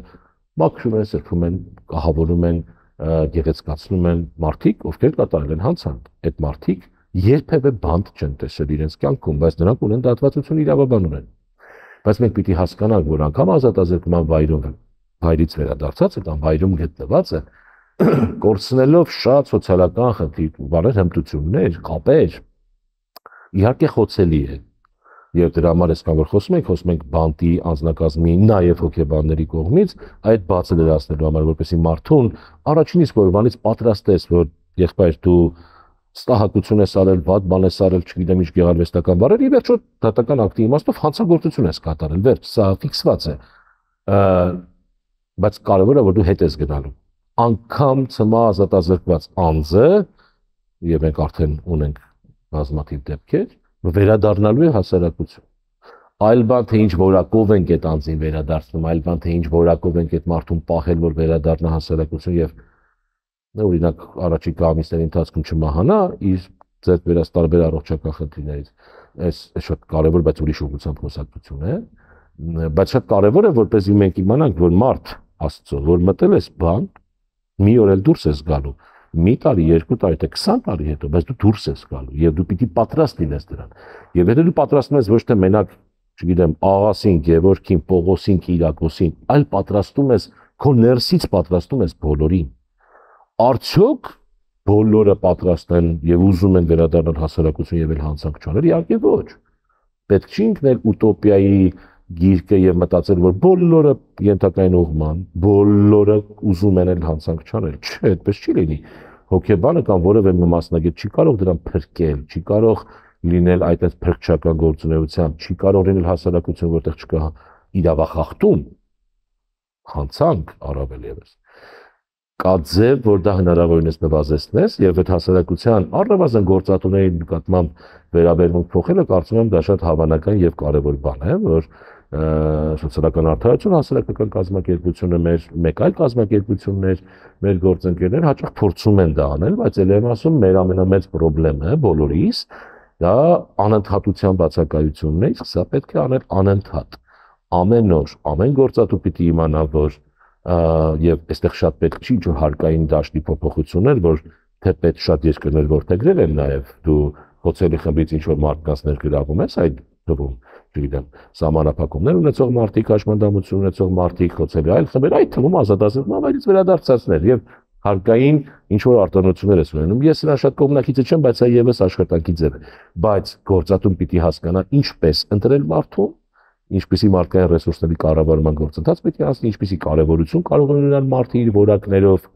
մաքրում են, սրբում են, կահավորում են, գեղեցկացնում են մարդիկ, ովքեր կատարել են հանցանք։ Այդ մարդիկ երբևէ բանտ չեն տեսել իրենց կյանքում, բայց նրանք ունեն դատվածություն իրավաբան ունեն։ Բայց մենք պիտի հասկանանք, որ անգամ ազատազրկման վայրից վերադարձած այդ անվայրում գտնված է, կորցնելով շատ սոցիալական խնդիր, բաներ, հմտություններ, կապեր, իհարկե խոցելի է։ Եվ դրա համար այսքան որ խոսում ենք բանտի, անձնակազմի, նաև հոգեբանների կողմից այդ բացը լրացնելու համար, որպեսզի մարդուն առաջին իսկ օրվանից պատրաստես, որ եղբայր դու ստահակություն ես արել, վատ բան ես արել, չգիտեմ ինչ գեղարվեստական բառեր, ի վերջո դատական ակտի իմաստով հանցագործություն ես կատարել, վերջ, սա ֆիքսված է։ Բայց կարևորը որ դու հետ ես գնալու։ Անգամ ցմա ազատազրկված անձը, եւ մենք արդեն ունենք բազմաթիվ դեպքեր, վերադառնալու է հասարակություն։ Այլ բան թե ինչ որակով ենք այդ անձին վերադարձնում, այլ բան թե ինչ որակով ենք այդ մարդուն պահել, որ վերադառնա հասարակություն եւ օրինակ առաջիկա ամիսների ընթացքում չմահանա իր ձեռք բերած տարբեր առողջական խնդիրներից։ Այս շատ կարևոր, բայց ուրիշ ուղղությամբ խոսակցություն է, բայց շատ կարևոր է որպեսզի մենք իմանանք, որ մարդ Աստծո, որ մտել ես բան, մի օր էլ դուրս ես գալու, մի տարի, 2 տարի, թե 20 տարի հետո, բայց դու դուրս ես գալու եւ դու պիտի պատրաստ լինես դրան։ Եվ եթե դու պատրաստվում ես ոչ թե մենակ, չգիտեմ, աղասին, Գևորգին, Պողոսին, Կիրակոսին, այլ պատրաստում ես քո ներսից պատրաստում ես բոլորին։ Արդյոք բոլորը պատրաստ են եւ ուզում են վերադառնալ հասարակություն եւ էլ հանցանք չանել, իհարկե ոչ։ Պետք չի ինքնել ուտոպիայի գիրկը եւ մտածել, որ բոլորը ենթակային ուղղման, բոլորը ուզում են էլ հանցանք չանել։ Չէ, այդպես չի լինի։ Հոգեբանը կամ որևէ մի մասնագետ չի կարող դրան փրկել, չի կարող լինել այդ փրկչական գործունեությամբ, չի կարող լինել հասարակություն, որտեղ չկա իրավախախտում, հանցանք առավել եւս։ Կա ձև, որ դա հնարավորինս նվազեցնես եւ այդ հասարակության առնվազն գործատուների նկատմամբ վերաբերմունք փոխելը կարծում եմ դա շատ հավանական եւ կարեւոր բան է, որ սոցիալական արդարություն հասարակական կազմակերպությունը մեկ այլ կազմակերպություններ, մեր գործընկերներ հաճախ փորձում են դա անել, բայց ել եմ ասում մեր ամենամեծ խնդիրը բոլորիս դա անընդհատության բացակայությունն է, իսկ սա պետք է անել անընդհատ։ Ամեն օր, ամեն գործատու պիտի իմանա, որ եւ այստեղ շատ պետք չի ինչ-որ հարկային դաշտի փոփոխություններ, որ թեպետ շատ երկրներ որտեղել են նաեւ դու հոցելի խմբից ինչ-որ մարդկանց ներգրավում ես այդ թվում, չգիտեմ, սահմանափակումներ ունեցող մարդիկ, հաշմանդամություն ունեցող մարդիկ, հոցելի այլ խմբեր, այդ թվում ազատազրկման վայրից վերադարձածներ եւ հարկային ինչ-որ արտոնություններ ես ունենում։ Ես նրան շատ կողմնակիցը չեմ, բայց այ եւս աշխատանքի ձև է։ Բայց գործատուն պիտի հասկանա ինչպես ընտրել մարդուն, ինչպիսի մարդկային ռեսուրսների կառավարման գործընթաց պետք է անցնի, ինչպիսի կարևորություն կարող է ունենալ մարդը իր որակներով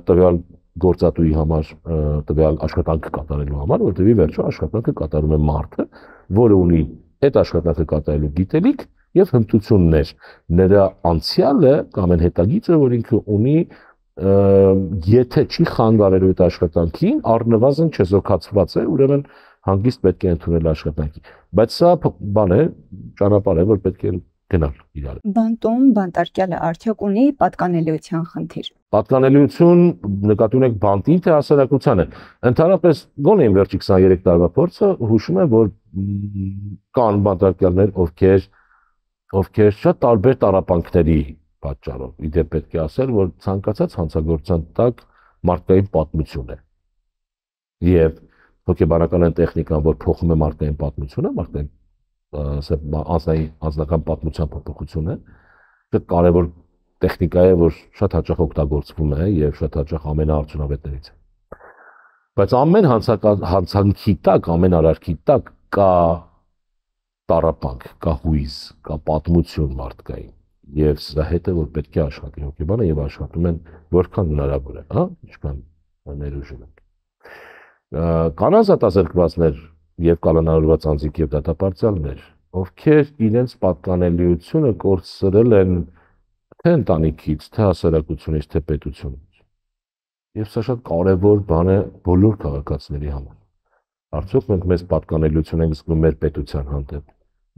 տվյալ գործատուի համար, տվյալ աշխատանքը կատարելու համար, որտեղ ի վերջո աշխատանքը կատարում է մարդը, որը ունի այդ աշխատանքը կատարելու գիտելիք եւ հմտություններ։ Նրա անցյալը կամ այն հետագիծը, որ ինքը ունի, եթե չի խանգարելու այդ աշխատանքին, առնվազն չեզոքացված է, ուրեմն հանգիստ պետք է ընդունել աշխատանքի։ Բայց սա բան է, ճանապարհ է, որ պետք է գնալ իրար։ Բանտում բանտարկյալը արդյոք ունի պատկանելիության խնդիր։ Պատկանելիություն նկատի ունենք բանտին թե հասարակությանը։ Ընդհանրապես գոնե իմ վերջի 23 տարվա փորձը հուշում է, որ կան բանտարկյալներ, ովքեր շատ տարբեր տառապանքների պատճառով, իդեպ պետք է ասել, որ ցանկացած հանցագործության տակ մարդկային պատմություն է։ Եվ հոգեբանական այն տեխնիկան, որ փոխում է մարդկային պատմությունը, մարդկային անձնական պատմության փոփոխությունը, շատ կարևոր տեխնիկա է, որ շատ հաճախ օգտագործվում է եւ շատ հաճախ ամենաարդյունավետներից է։ Բայց ամեն հանցանքի տակ, ամեն արարքի տակ կա տառապանք, կա հույզ, կա պատմություն մարդկային եւ սրա հետ է որ պետք է աշխատի հոգեբանը եւ աշխատում են որքան հնարավոր է, հա, ինչքան ներուժում են։ Կան ազատազրկվածներ եւ կալանավորված անձիկ եւ դատապարտյալներ, ովքեր իրենց պատկանելիությունը կորցրել են թե ընտանիքից, թե հասարակությունից, թե պետությունից։ Եվ սա շատ կարևոր բան է բոլոր քաղաքացիների համար։ Արդյոք մենք մեզ պատկանելիություն ենք զգում մեր պետության հանդեպ,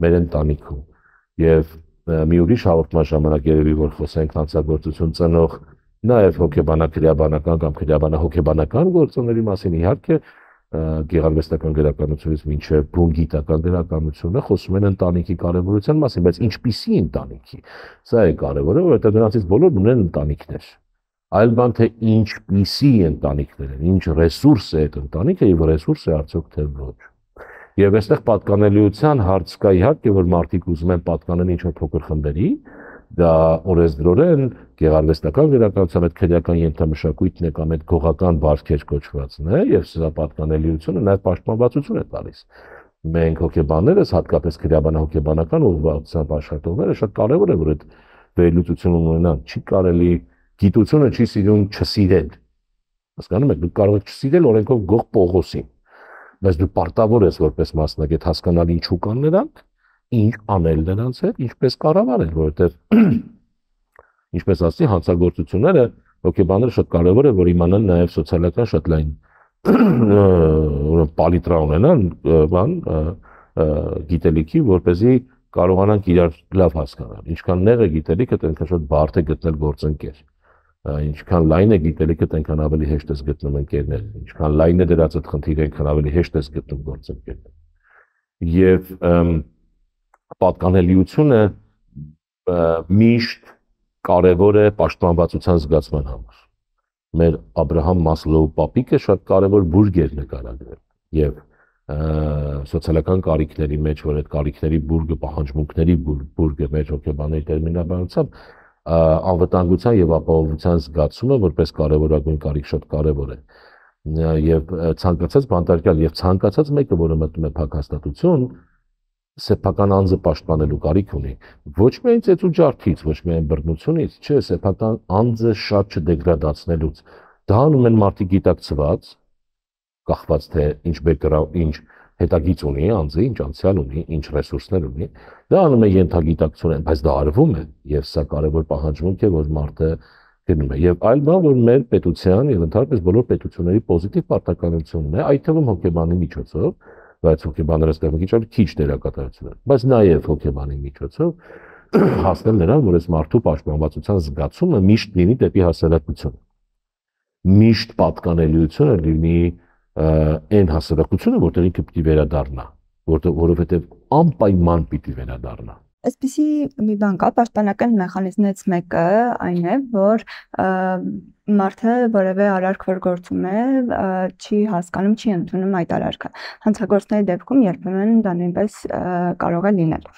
մեր ընտանիքում եւ մի ուրիշ հաղորդման ժամանակ երևի որ խոսենք հանցագործություն ծնող նաեւ հոգեբանական կամ քրեաբանահոգեբանական գործոնների մասին, իհարկե գեղարվեստական գրականությունից մինչև բուն գիտական գրականությունը խոսում են ընտանիքի կարևորության մասին, բայց ինչպիսի ընտանիքի։ Սա է կարևորը, որովհետեւ նրանցից բոլորն ունեն ընտանիքներ։ Այլ բան թե ինչպիսի ընտանիքներ են, ինչ ռեսուրս է այդ ընտանիքը եւ ռեսուրս է արդյոք թե ոչ։ Եվ այստեղ պատկանելիության հարց կա իհարկե, որ մարդիկ ուզում են պատկանել ինչ-որ փոքր խմբերի, դա օրենսդրորեն գեղարվեստական գրականության այդ քրեական ենթամշակույթն է կամ այդ գողական բարքեր կոչվածն է եւ սա պատկանելիությունը նաեւ պաշտպանվածություն է տալիս։ Մենք հոգեբաններս, հատկապես քրեաբանահոգեբանական ուղղվածությամբ աշխատողները շատ կարեւոր է որ այդ վերլուծությունը ունենան, չի կարելի գիտությունը չի սիրում չսիրել։ Հասկանում եք, դու կարող ես չսիրել օրենքով գող Պողոսին, բայց դու պարտավոր ես որպես մասնագետ հասկանալ ինչու կան նրանք, ինչ անել նրանց հետ, ինչպես կառավարել, որովհետև ինչպես ասի հանցագործությունները հոգեբանները շատ կարևոր է որ իմանան նաև սոցիալական շատ լայն պալիտրա ունենան բան գիտելիքի, որպեսզի կարողանանք իրար լավ հասկանալ։ Ինչքան նեղ է գիտելիքը, այնքան շատ բարդ է գտնել գործընկեր։ Ինչքան լայն է գիտելիքը, այնքան ավելի հեշտ է գտնում ընկերներ, ինչքան լայն է դրած այդ խնդիրը, այնքան ավելի հեշտ է գտնում գործընկերներ։ Եվ պատկանելիությունը միշտ կարևոր է պաշտպանվածության զգացման համար։ Մեր Աբրահամ Մասլոու պապիկը շատ կարևոր բուրգ էր նկարագրել եւ սոցիալական կարիքների մեջ, որ այդ կարիքների բուրգը, պահանջմունքների բուրգը մեր հոգեբանների տերմինաբանությամբ անվտանգության եւ ապահովության զգացումը որպես կարևորագույն կարիք շատ կարևոր է եւ ցանկացած բանտարկյալ եւ ցանկացած մեկը որը մտնում է փակ հաստատություն սեփական անձը պաշտպանելու կարիք ունի ոչ միայն ծեծու ջարդից ոչ միայն բռնությունից չէ սեփական անձը շատ չդեգրադացնելուց դա անում են մարդիկ գիտակցված կախված թե ինչ բեկգրաունդ ինչ հետագից ունի անձը ինչ անցյալ ունի ինչ ռեսուրսներ ունի դա անում է ենթագիտակցորեն բայց դա արվում է եւ սա կարեւոր պահանջմունք է որ մարդը գնում է եւ այլ բան որ մեր պետության եւ ընդհանրապես բոլոր պետությունների պոզիտիվ պարտականությունն է այդ թվում հոգեբանի միջոցով բայց հոգեբանները ստեղ մի քիչ դերակատարություն են բայց նաեւ հոգեբանի միջոցով հասնել նրան որ այս մարդու պաշտպանվածության զգացումը միշտ լինի դեպի հասարակություն միշտ պատկանելիությունը լինի այն հասարակությունը, որտեղ ինքը պիտի վերադառնա, որովհետև անպայման պիտի վերադառնա։ Այսպիսի մի բան կա, պաշտպանական մեխանիզմներից մեկը այն է, որ մարդը որևէ արարք որ գործում է, չի հասկանում, չի ընդունում այդ արարքը։ Հանցագործների դեպքում երբեմն դա նույնպես կարող է լինել։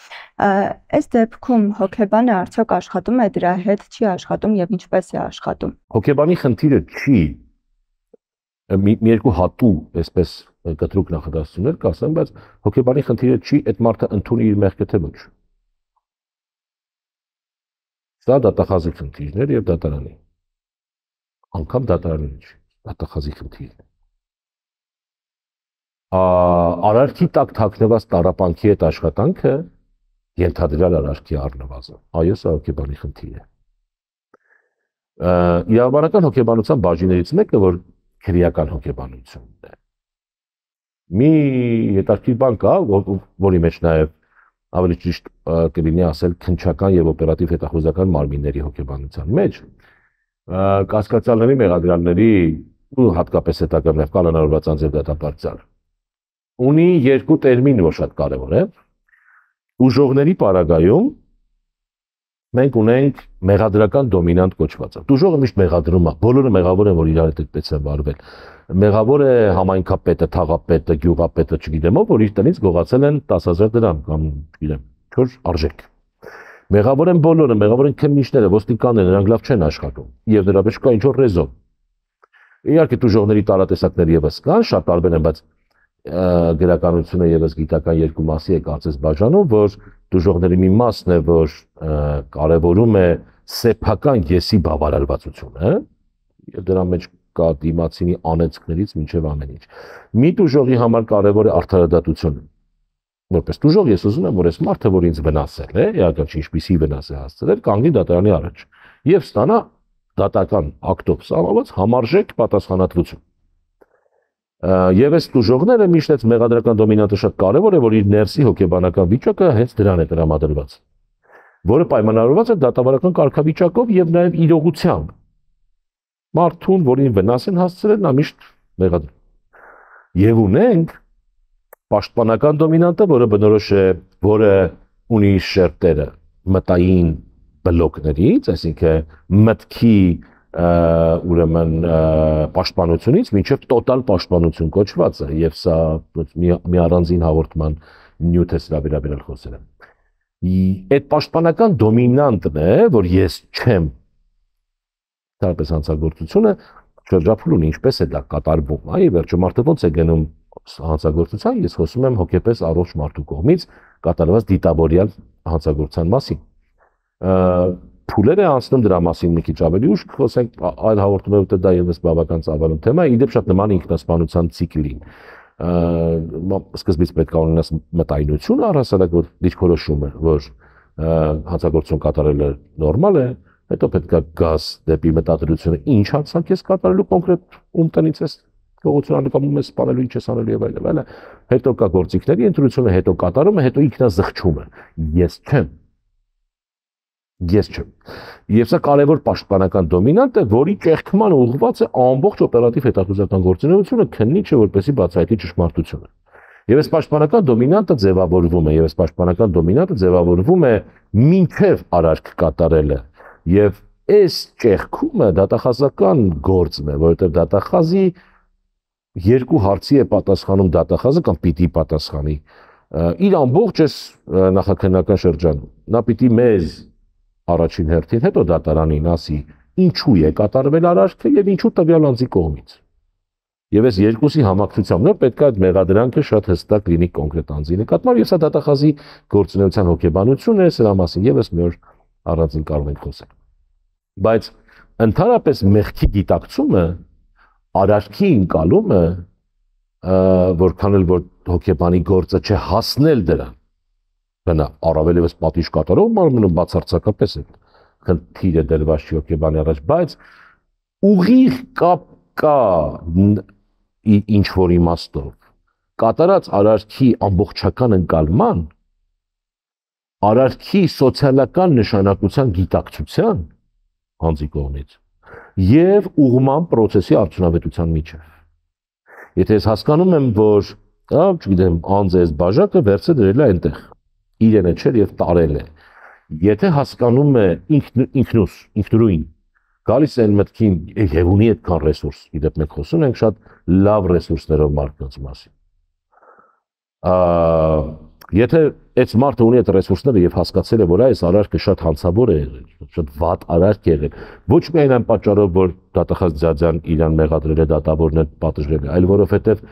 Այս դեպքում հոգեբանը արդյոք աշխատում է դրա հետ, չի աշխատում եւ ինչպես է աշխատում։ Հոգեբանի խնդիրը չի մի երկու հատու, այսպես կտրուկ նախադասություններ կասեմ, բայց հոգեբանի խնդիրը չի այդ մարդը ընդունի իր մեղքը թե ոչ։ Սա դատախազի խնդիրներ եւ դատարանի։ Անկամ դատարանի չի, դատախազի խնդիրն է։ Արարքի տակ թաքնված տառապանքի հետ աշխատանքը ենթադրյալ արարքի առնվազն։ Այո, սա հոգեբանի խնդիր է։ Իրավաբանական հոգեբանության բաժիններից մեկը, որ քրեական հոգեբանությունն է։ Մի հետաքրքիր բան կա, որի մեջ նաև ավելի ճիշտ կլինի ասել քննչական եւ օպերատիվ հետախուզական մարմինների հոգեբանության մեջ կասկածյալների, մեղադրյալների ու հատկապես հետագա կալանավորված անձ եւ դատապարտյալ ունի երկու տերմին, որ շատ կարեւոր է։ Ուժողների պարագայում մենք ունենք մեղադրական դոմինանտ կոչվածը։ Դուժողը միշտ մեղադրում է, բոլորը մեղավոր են, որ իրար հետ այդպես են վարվել։ Մեղավոր է համայնքապետը, թաղապետը, գյուղապետը, չգիտեմ ով, որ իր տնից գողացել են 10,000 դրամ կամ չգիտեմ, չոր արժեք։ Մեղավոր են բոլորը, մեղավոր են քննիչները, ոստիկանները, նրանք լավ չեն աշխատում։ Եվ դրա մեջ կա ինչ-որ ռեզոն։ Իհարկե դուժողների տարատեսակներ եւս կան, շատ տարբեր են, բայց գրականությունը եւս գիտական երկու մասի է կարծես բաժանում, որ դուժողների մի մասն է, որ կարևորում է սեփական եսի բավարարվածությունը, եւ դրա մեջ կա դիմացինի անեծքներից մինչև ամեն ինչ։ Մի դուժողի համար կարևոր է արդարադատությունը։ Որպես դուժող ես ուզում եմ, որ այս մարդը, որ ինձ վնասել է, իհարկե ինչպիսի վնաս է հասցրել, կանգնի դատարանի առաջ եւ ստանա դատական ակտով սահմանված համարժեք պատասխանատվություն։ Եվ այս դուժողները միշտ այս մեղադրական դոմինանտը շատ կարևոր է, որ իր ներսի հոգեբանական վիճակը հենց դրան է տրամադրված, որը պայմանավորված է դատավարական կարգավիճակով եւ նաեւ իրողությամբ։ Մարդուն, որին վնաս են հասցրել, նա միշտ մեղադրում։ Եվ ունենք պաշտպանական դոմինանտը, որը բնորոշ է, որը ունի շերտերը մտային բլոկներից, այսինքն մտքի ուրեմն պաշտպանությունից մինչև տոտալ պաշտպանություն կոչված է, եւ սա մի առանձին հաղորդման նյութ է սրա վերաբերյալ խոսել եմ։ Այդ պաշտպանական դոմինանտն է, որ ես չեմ դարպես հանցագործությունը շրջափուլուն ինչպես է դա կատարվում, այ վերջո մարդը ոնց է գնում հանցագործության, ես խոսում եմ հոգեպես առողջ մարդու կողմից կատարված դիտավորյալ հանցագործության մասին։ Փուլեր է անցնում դրա մասին մի քիչ ավելի ուշ խոսենք այլ հաղորդումներով, դա եւս բավական ծավալուն թեմա է, իդեպ շատ նման ինքնասպանության ցիկլին։ Սկզբից պետք է ունենաս մտայնություն առհասարակ, որ դիրքորոշում է, որ հանցագործություն կատարելը նորմալ է, հետո պետք է գաս դեպի մտադրությունը, ինչ հանցանք ես կատարելու կոնկրետ ում տնից ես գողություն անում ես սպանելու, ինչ ես անելու եւ այլն, հետո կա գործիքների ընտրությունը, հետո կատարումը, հետո ինքնազղջումը։ Ես չեմ։ Եվ սա կարևոր պաշտպանական դոմինանտ է, որի ճեղքման ուղղված է ամբողջ օպերատիվ հետախուզական գործունեությունը, քննիչը որպեսզի բացահայտի ճշմարտությունը։ Եվ այս պաշտպանական դոմինանտը ձևավորվում է մինչև արարք կատարելը։ Եվ այս ճեղքումը դատախազական գործն է, որովհետև դատախազի երկու հարցի է պատասխանում դատախազը կամ պիտի պատասխանի իր ամբողջ այս նախաքննական շրջանում։ Նա պիտի մեզ առաջին հերթին, հետո դատարանին ասի ինչու է կատարվել արարքը եւ ինչու տվյալ անձի կողմից։ Եվ այս երկուսի համակցությամբ նոր պետք է այդ մեղադրանքը շատ հստակ լինի կոնկրետ անձի նկատմամբ, եւ սա դատախազի գործունեության հոգեբանությունն է, սրա մասին եւս մի օր առանձին կարող ենք խոսել։ Բայց ընդհանրապես մեղքի գիտակցումը, արարքի ընկալումը, որքան էլ որ հոգեբանի գործը չէ հասնել դրան, բնա առավել եւս պատիժ կատարող մարմնում բացարձակապես է խնդիրը դրված չի հոգեբանի առաջ, բայց ուղիղ կապ կա ինչ որ իմաստով կատարած արարքի ամբողջական ընկալման, արարքի սոցիալական նշանակության գիտակցության անձի կողմից եւ ուղղման process-ի արդյունավետության միջեւ։ Եթե ես հասկանում եմ, որ, չգիտեմ, անձը այս բաժակը վերցը դրել է այնտեղ, իրենը չէր եւ տարել է։ Եթե հասկանում է ինքնուրույն, գալիս են մտքին եւ ունի այդքան ռեսուրս, իդեպ մենք խոսում ենք շատ լավ ռեսուրսներով մարդկանց մասին։ Եթե այս մարդը ունի այդ ռեսուրսները եւ հասկացել է, որ այս արարքը շատ հանցավոր է եղել, շատ վատ արարք է եղել, ոչ միայն այն պատճառով, որ դատախազ Ձյաձյան իրան մեղադրել է, դատավորն է պատժվել, այլ որովհետեւ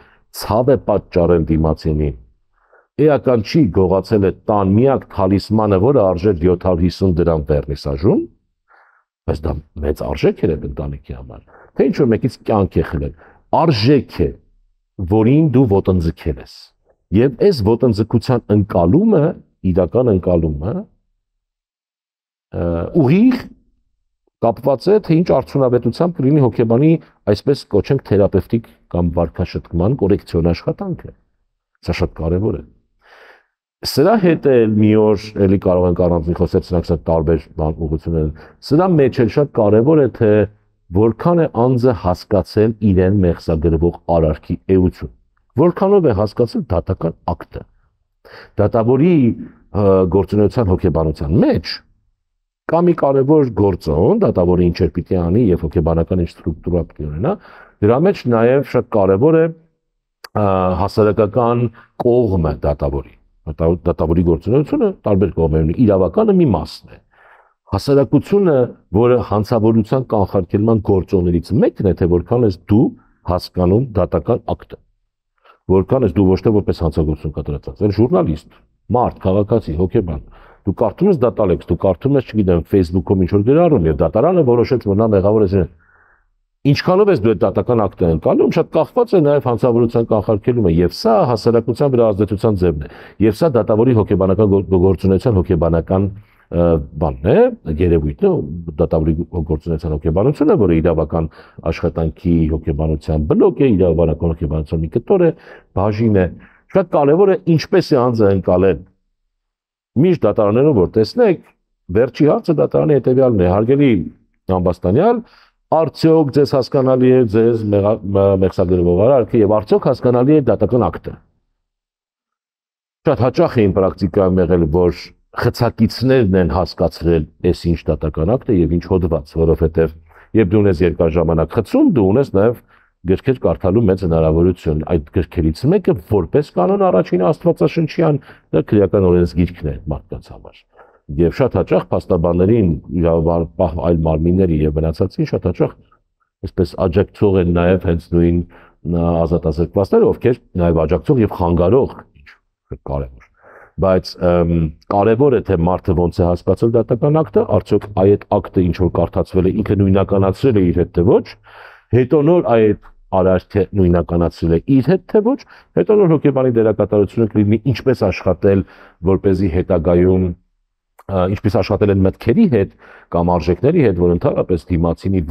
ցավ է պատճառել դիմացինին։ Էական չի գողացել է տան միակ թալիսմանը, որը արժեր 750 դրամ վերնիսաժում, բայց դա մեծ արժեք էր ընտանիքի համար։ Թե ինչ որ մեկից կյանք է խլել, արժեք է, որին դու ոտնձգել ես։ Եվ այս ոտնձգության ընկալումը, իրական ընկալումը ուղիղ կապված է, թե ինչ արդյունավետությամբ կլինի հոգեբանի այսպես կոչենք թերապևտիկ կամ վարքաշտկման կորեկցիոն աշխատանքը։ Սա շատ կարևոր է։ Սրա հետ էլ մի օր էլի կարող ենք առանձին խոսել, սրանք շատ տարբեր ուղղություններ են։ Սրա մեջ էլ շատ կարևոր է, թե որքան է անձը հասկացել իրեն մեղսագրվող արարքի էություն։ Որքանով է հասկացել դատական ակտը։ Դատավորի գործունեության հոգեբանության մեջ կա մի կարևոր գործոն, դատավորը ինչեր պիտի անի եւ հոգեբանական ինչ ստրուկտուրա պիտի ունենա, դրա մեջ նաեւ շատ կարևոր է հասարակական կողմը դատավորի։ Դատավորի գործունեությունը տարբեր կողմեր ունի, իրավականը մի մասն է։ Հասարակությունը, որը հանցավորության կանխարգելման գործոններից մեկն է, թե որքան ես դու հասկանում դատական ակտը, որքան ես դու ոչ թե որպես հանցագործություն կատարած, այլ ժուրնալիստ, մարդ, քաղաքացի, հոգեբան, դու կարդում ես դատալեքս, դու կարդում ես, չգիտեմ, Facebook-ում ինչ որ գրառում եւ դատարանը որոշեց, որ նա մեղավոր է։ Ինչքանով ես դու այդ դատական ակտը ընկալում, շատ կախված է նաև հանցավորության կանխարգելումը, եւ սա հասարակության վրա ազդեցության ձևն է, եւ սա դատավորի հոգեբանական գործունեության հոգեբանական բանն է, երևույթն է, դատավորի գործունեության հոգեբանությունը, որը իրավական աշխատանքի հոգեբանության բլոկ է, իրավաբանական հոգեբանության մի կտոր է, բաժին է, շատ կարևոր է ինչպես է անձը ընկալել։ Միշտ դատարաններում որ տեսնեք, վերջի հարցը դատարանի հետեւյալն է, հարգելի ամբաստանյալ, արդյոք ձեզ հասկանալի է ձեզ մեղսագրվող արարքը եւ արդյոք հասկանալի է դատական ակտը։ Շատ հաճախ է պրակտիկայում եղել, որ խցակիցներն են հասկացրել այս ինչ դատական ակտ է եւ ինչ հոդված, որովհետեւ երբ դու ունես երկար ժամանակ խցում, դու ունես նաեւ գրքեր կարդալու մեծ հնարավորություն։ Այդ գրքերից մեկը որպես կանոն առաջին աստվածաշնչյան դա քրեական օրենսգիրքն է մարդկանց համար։ Եվ շատ հաճախ փաստաբաններին, այլ մարմինների եւ մնացածին շատ հաճախ այսպես աջակցող են նաեւ հենց նույն ազատազրկվածները, ովքեր նաեւ աջակցող եւ խանգարող, ինչ կարեւոր։ Բայց կարեւոր է թե մարդը ոնց է հասկացել դատական ակտը, արդյոք այդ ակտը ինչ որ կարդացվել է ինքը նույնականացրել է իր հետ թե ոչ, հետո նոր այդ արարքը նույնականացրել է իր հետ թե ոչ, հետո նոր հոգեբանի դերակատարությունը կլինի ինչպես աշխատել, որպեսզի հետագայում ինչպես աշխատել են մտքերի հետ կամ արժեքների հետ, որ ընդհանրապես դիմացինի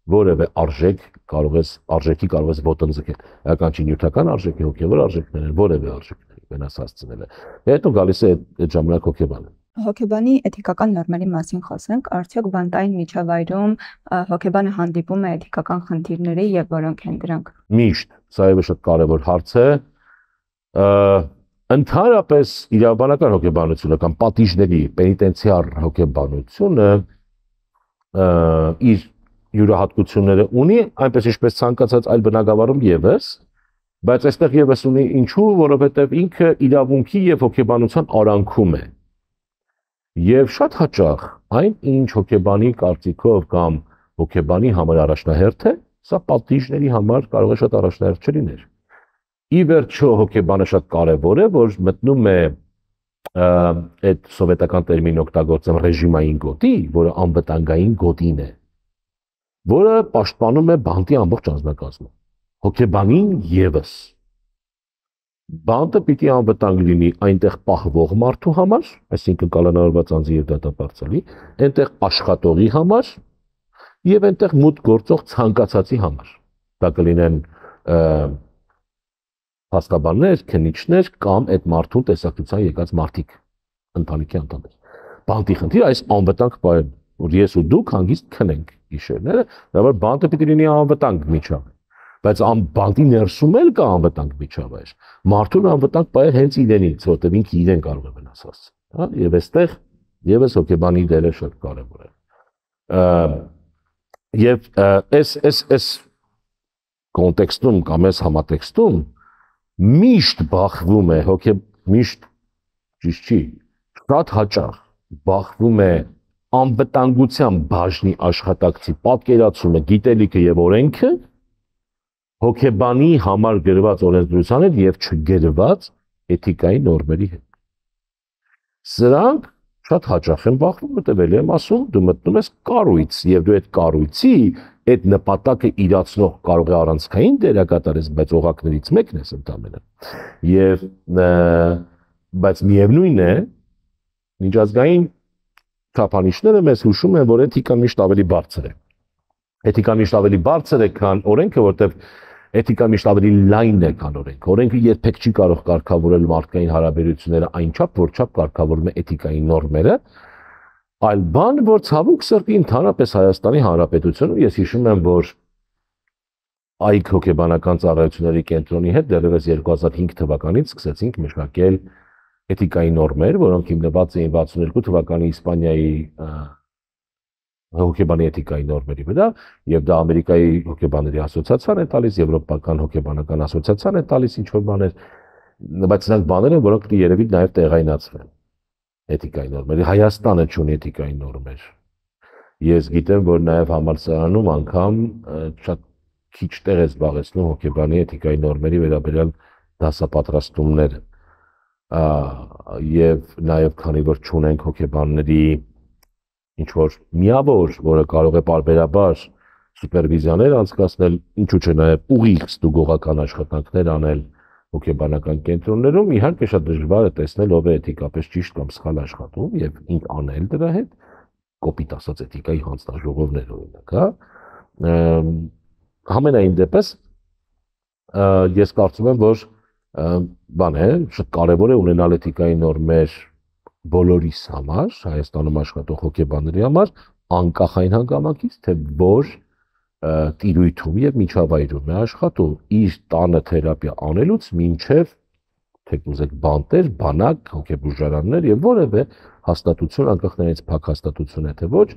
որևէ արժեքի կարող ես ոտնձգել։ Այական չի նյութական արժեքի, հոգևոր արժեքներ են, որևէ արժեքների վնաս հասցնել է։ Հետո գալիս է այդ ժամանակ հոգեբանը։ Հոգեբանի էթիկական նորմերի մասին խոսենք, արդյոք բանտային միջավայրում հոգեբանը հանդիպում է էթիկական խնդիրների եւ որոնք են դրանք։ Միշտ, սա է շատ կարևոր հարց է։ Ընդհանրապես իրավաբանական հոգեբանությունը կամ պատիժների պենիտենցիար հոգեբանությունը իր յուրահատկությունները ունի, այնպես ինչպես ցանկացած այլ բնագավառում եւս, բայց այստեղ եւս ունի ինչու, որովհետեւ ինքը իրավունքի եւ հոգեբանության արանքում է։ Եվ շատ հաճախ այն ինչ հոգեբանի կարծիքով կամ հոգեբանի համար առաջնահերթ է, սա պատիժների համար կարող է շատ առաջնահերթ չլիներ։ Ի վերջո հոգեբանը շատ կարևոր է, որ մտնում է այդ սովետական տերմին օգտագործեմ ռեժիմային գոտի, որը անվտանգային գոտին է, որը պաշտպանում է բանտի ամբողջ անձնակազմը։ Հոգեբանին եւս բանտը պիտի անվտանգ լինի այնտեղ պահվող մարդու համար, այսինքն կալանավորված անձի եւ դատապարտյալի, այնտեղ աշխատողի համար եւ այնտեղ մուտք գործող ցանկացածի համար։ Դա կլինեն փաստաբաններ, քննիչներ կամ այդ մարդուն տեսակցության եկած մարդիկ, ընտանիքի անդամներ։ Բանտի խնդիրը այս անվտանգ պահել, որ ես ու դուք հանգիստ քնենք գիշերները, դա որ բանտը պիտի լինի անվտանգ միջավայր։ Բայց բանտի ներսում էլ կա անվտանգ միջավայր։ Մարդուն անվտանգ պահել հենց իրենից, որտեղ ինքը իրեն կարող է վնաս հասցնել, հա, եւ այստեղ եւս հոգեբանի դերը շատ կարեւոր է։ Եվ այս կոնտեքստում կամ այս համատեքստում միշտ բախվում է միշտ ճիշտ չի, շատ հաճախ բախվում է անվտանգության բաժնի աշխատակցի պատկերացումը, գիտելիքը եւ օրենքը հոգեբանի համար գրված օրենսդրության հետ եւ չգրված էթիկայի նորմերի հետ։ Սրանք շատ հաճախ են բախվում, մտվել եմ ասում, դու մտնում ես կառույց եւ դու այդ կառույցի այդ նպատակը իրացնող կարող է առանցքային դերակատարես, բայց օղակներից մեկն ես ընդամենը։ Եվ բայց միևնույն է, միջազգային չափանիշները մեզ հուշում են, որ էթիկան միշտ ավելի բարձր է։ Էթիկան միշտ ավելի բարձր է, քան օրենքը, որտեղ էթիկան միշտ ավելի լայն է, քան օրենքը։ Օրենքը երբեք չի կարող կարգավորել մարդկային հարաբերությունները այնչափ, որչափ կարգավորում է էթիկայի նորմերը, այլ բան, որ ցավոք սրտի ընդհանրապես Հայաստանի Հանրապետությունում ես հիշում եմ, որ այգ հոգեբանական ծառայությունների կենտրոնի հետ դեռևս 2005 թվականից սկսեցինք մշակել էթիկայի նորմեր, որոնք հիմնված էին 62 թվականի Իսպանիայի հոգեբանի էթիկայի նորմերի վրա, եւ դա Ամերիկայի հոգեբանների ասոցիացիան է տալիս, Եվրոպական հոգեբանական ասոցիացիան է տալիս ինչ որ բաներ, բայց նրանք բաներ են, որոնք երևի նաեւ տեղայնացվեն էթիկայի նորմերի։ Հայաստանը չունի էթիկայի նորմեր։ Ես գիտեմ, որ նաեւ համալսարանում անգամ շատ քիչ տեղ է զբաղեցնում հոգեբանի էթիկայի նորմերի վերաբերյալ դասապատրաստումները, եւ նաեւ քանի որ չունենք հոգեբանների ինչ որ միավոր, որը կարող է պարբերաբար սուպերվիզիաներ անցկացնել, ինչու՞ չէ նաեւ ուղիղ ստուգողական աշխատանքներ անել հոգեբանական կենտրոններում, իհարկե շատ դժվար է տեսնել ով է էթիկապես ճիշտ կամ սխալ աշխատում եւ ինչ անել դրա հետ, կոպիտ ասած էթիկայի հանձնաժողովներ օրինակ, Համենայն դեպս ես կարծում եմ, որ բան է, շատ կարևոր է ունենալ էթիկայի նորմեր բոլորիս համար, Հայաստանում աշխատող հոգեբանների համար, անկախ այն հանգամանքից, թե որ տիրույթում եւ միջավայրում է աշխատում, իր տանը թերապիա անելուց մինչեւ թեկուզ եք բանտեր, բանակ, հոգեբուժարաններ եւ որևէ հաստատություն, անկախ նրանից փակ հաստատություն է թե ոչ,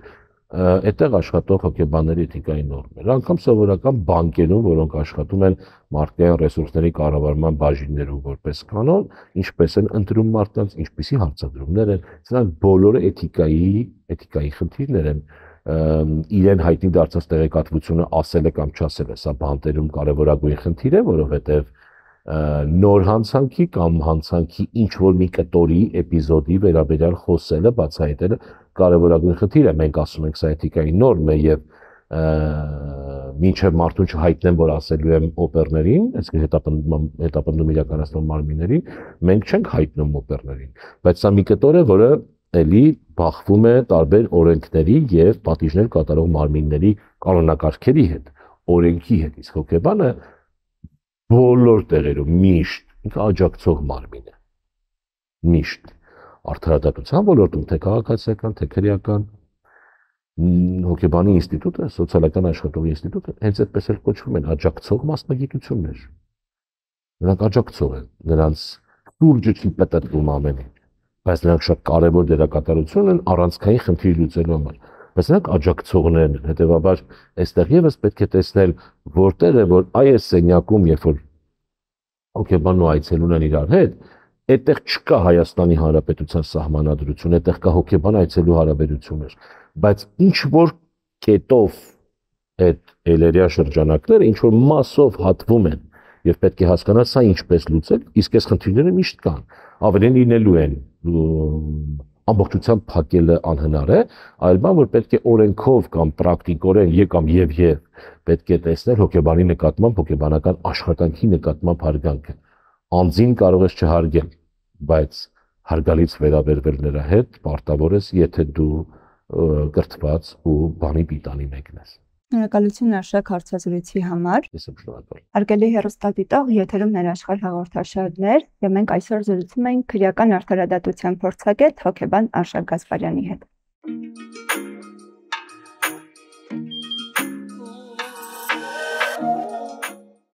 այդտեղ աշխատող հոգեբանների էթիկայի նորմեր, անգամ սովորական բանկերում, որոնք աշխատում են մարդկային ռեսուրսների կառավարման բաժիններում որպես կանոն, ինչպես են ընտրում մարդկանց, ինչպիսի հարցադրումներ են, սրանք բոլորը էթիկայի խնդիրներ են, իրեն հայտնի դարձած տեղեկատվությունը ասել է կամ չասել է, սա բանտերում կարևորագույն խնդիր է, որովհետև նոր հանցանքի կամ հանցանքի ինչ որ մի կտորի էպիզոդի վերաբերյալ խոսելը, բացահայտելը կարևորագույն խնդիր է, մենք ասում ենք սա էթիկայի նորմ է եւ մինչև մարդուն չհայտնեմ, որ ասելու եմ օպերներին, այսինքն հետապնդում իրականացնող մարմիններին, մենք չենք հայտնում օպերներին, բայց սա մի կտոր է, որը էլի բախվում է տարբեր օրենքների եւ պատիժներ կատարող մարմինների կանոնակարգերի հետ, օրենքի հետ, իսկ հոգեբանը բոլոր տեղերում միշտ ինքը աջակցող մարմին է, միշտ արդարադատության ոլորտում, թե քաղաքացիական, թե քրեական, հոգեբանի ինստիտուտը, սոցիալական աշխատողի ինստիտուտը հենց այդպես էլ կոչվում են աջակցող մասնագիտություններ, նրանք աջակցող են, նրանց շուրջը չի պատտվում ամեն ինչ, բայց նրանք շատ կարևոր դերակատարություն են առանցքային խնդիր լուծելու համար, բայց նրանք աջակցողներն են, հետևաբար այստեղ եւս պետք է տեսնել որտեղ է, որ այս սենյակում, երբ որ հոգեբանն ու այցելուն են իրար հետ, այդտեղ չկա Հայաստանի Հանրապետության սահմանադրություն, այդտեղ կա հոգեբան այցելու հարաբերություններ, բայց ինչ որ կետով այդ էլերիա շրջանակները ինչ որ մասով հատվում են եւ պետք է հասկանալ սա ինչպես լուծել, իսկ այս խնդիրները միշտ կան, ավելին լինելու են ամբողջությամբ փակելը անհնար է, այլ բան որ պետք է օրենքով կամ պրակտիկորեն կամ եւ պետք է տեսնել հոգեբանի նկատմամբ հոգեբանական աշխատանքի նկատմամբ հարգանքը, անձին կարող ես չհարգել, բայց հարգալից վերաբերվել նրա հետ պարտավոր ես, եթե դու կրթված ու բանի պիտանի մեկն ես։ Շնորհակալություն Արշակ հարցազրույցի համար։ Ես եմ շնորհակալ։ Հարգելի հեռուստադիտող, եթերում ներաշխարհ հաղորդաշարներ, եւ մենք այսօր զրուցում ենք քրեական արդարադատության փորձագետ հոգեբան Արշակ Գասպարյանի հետ։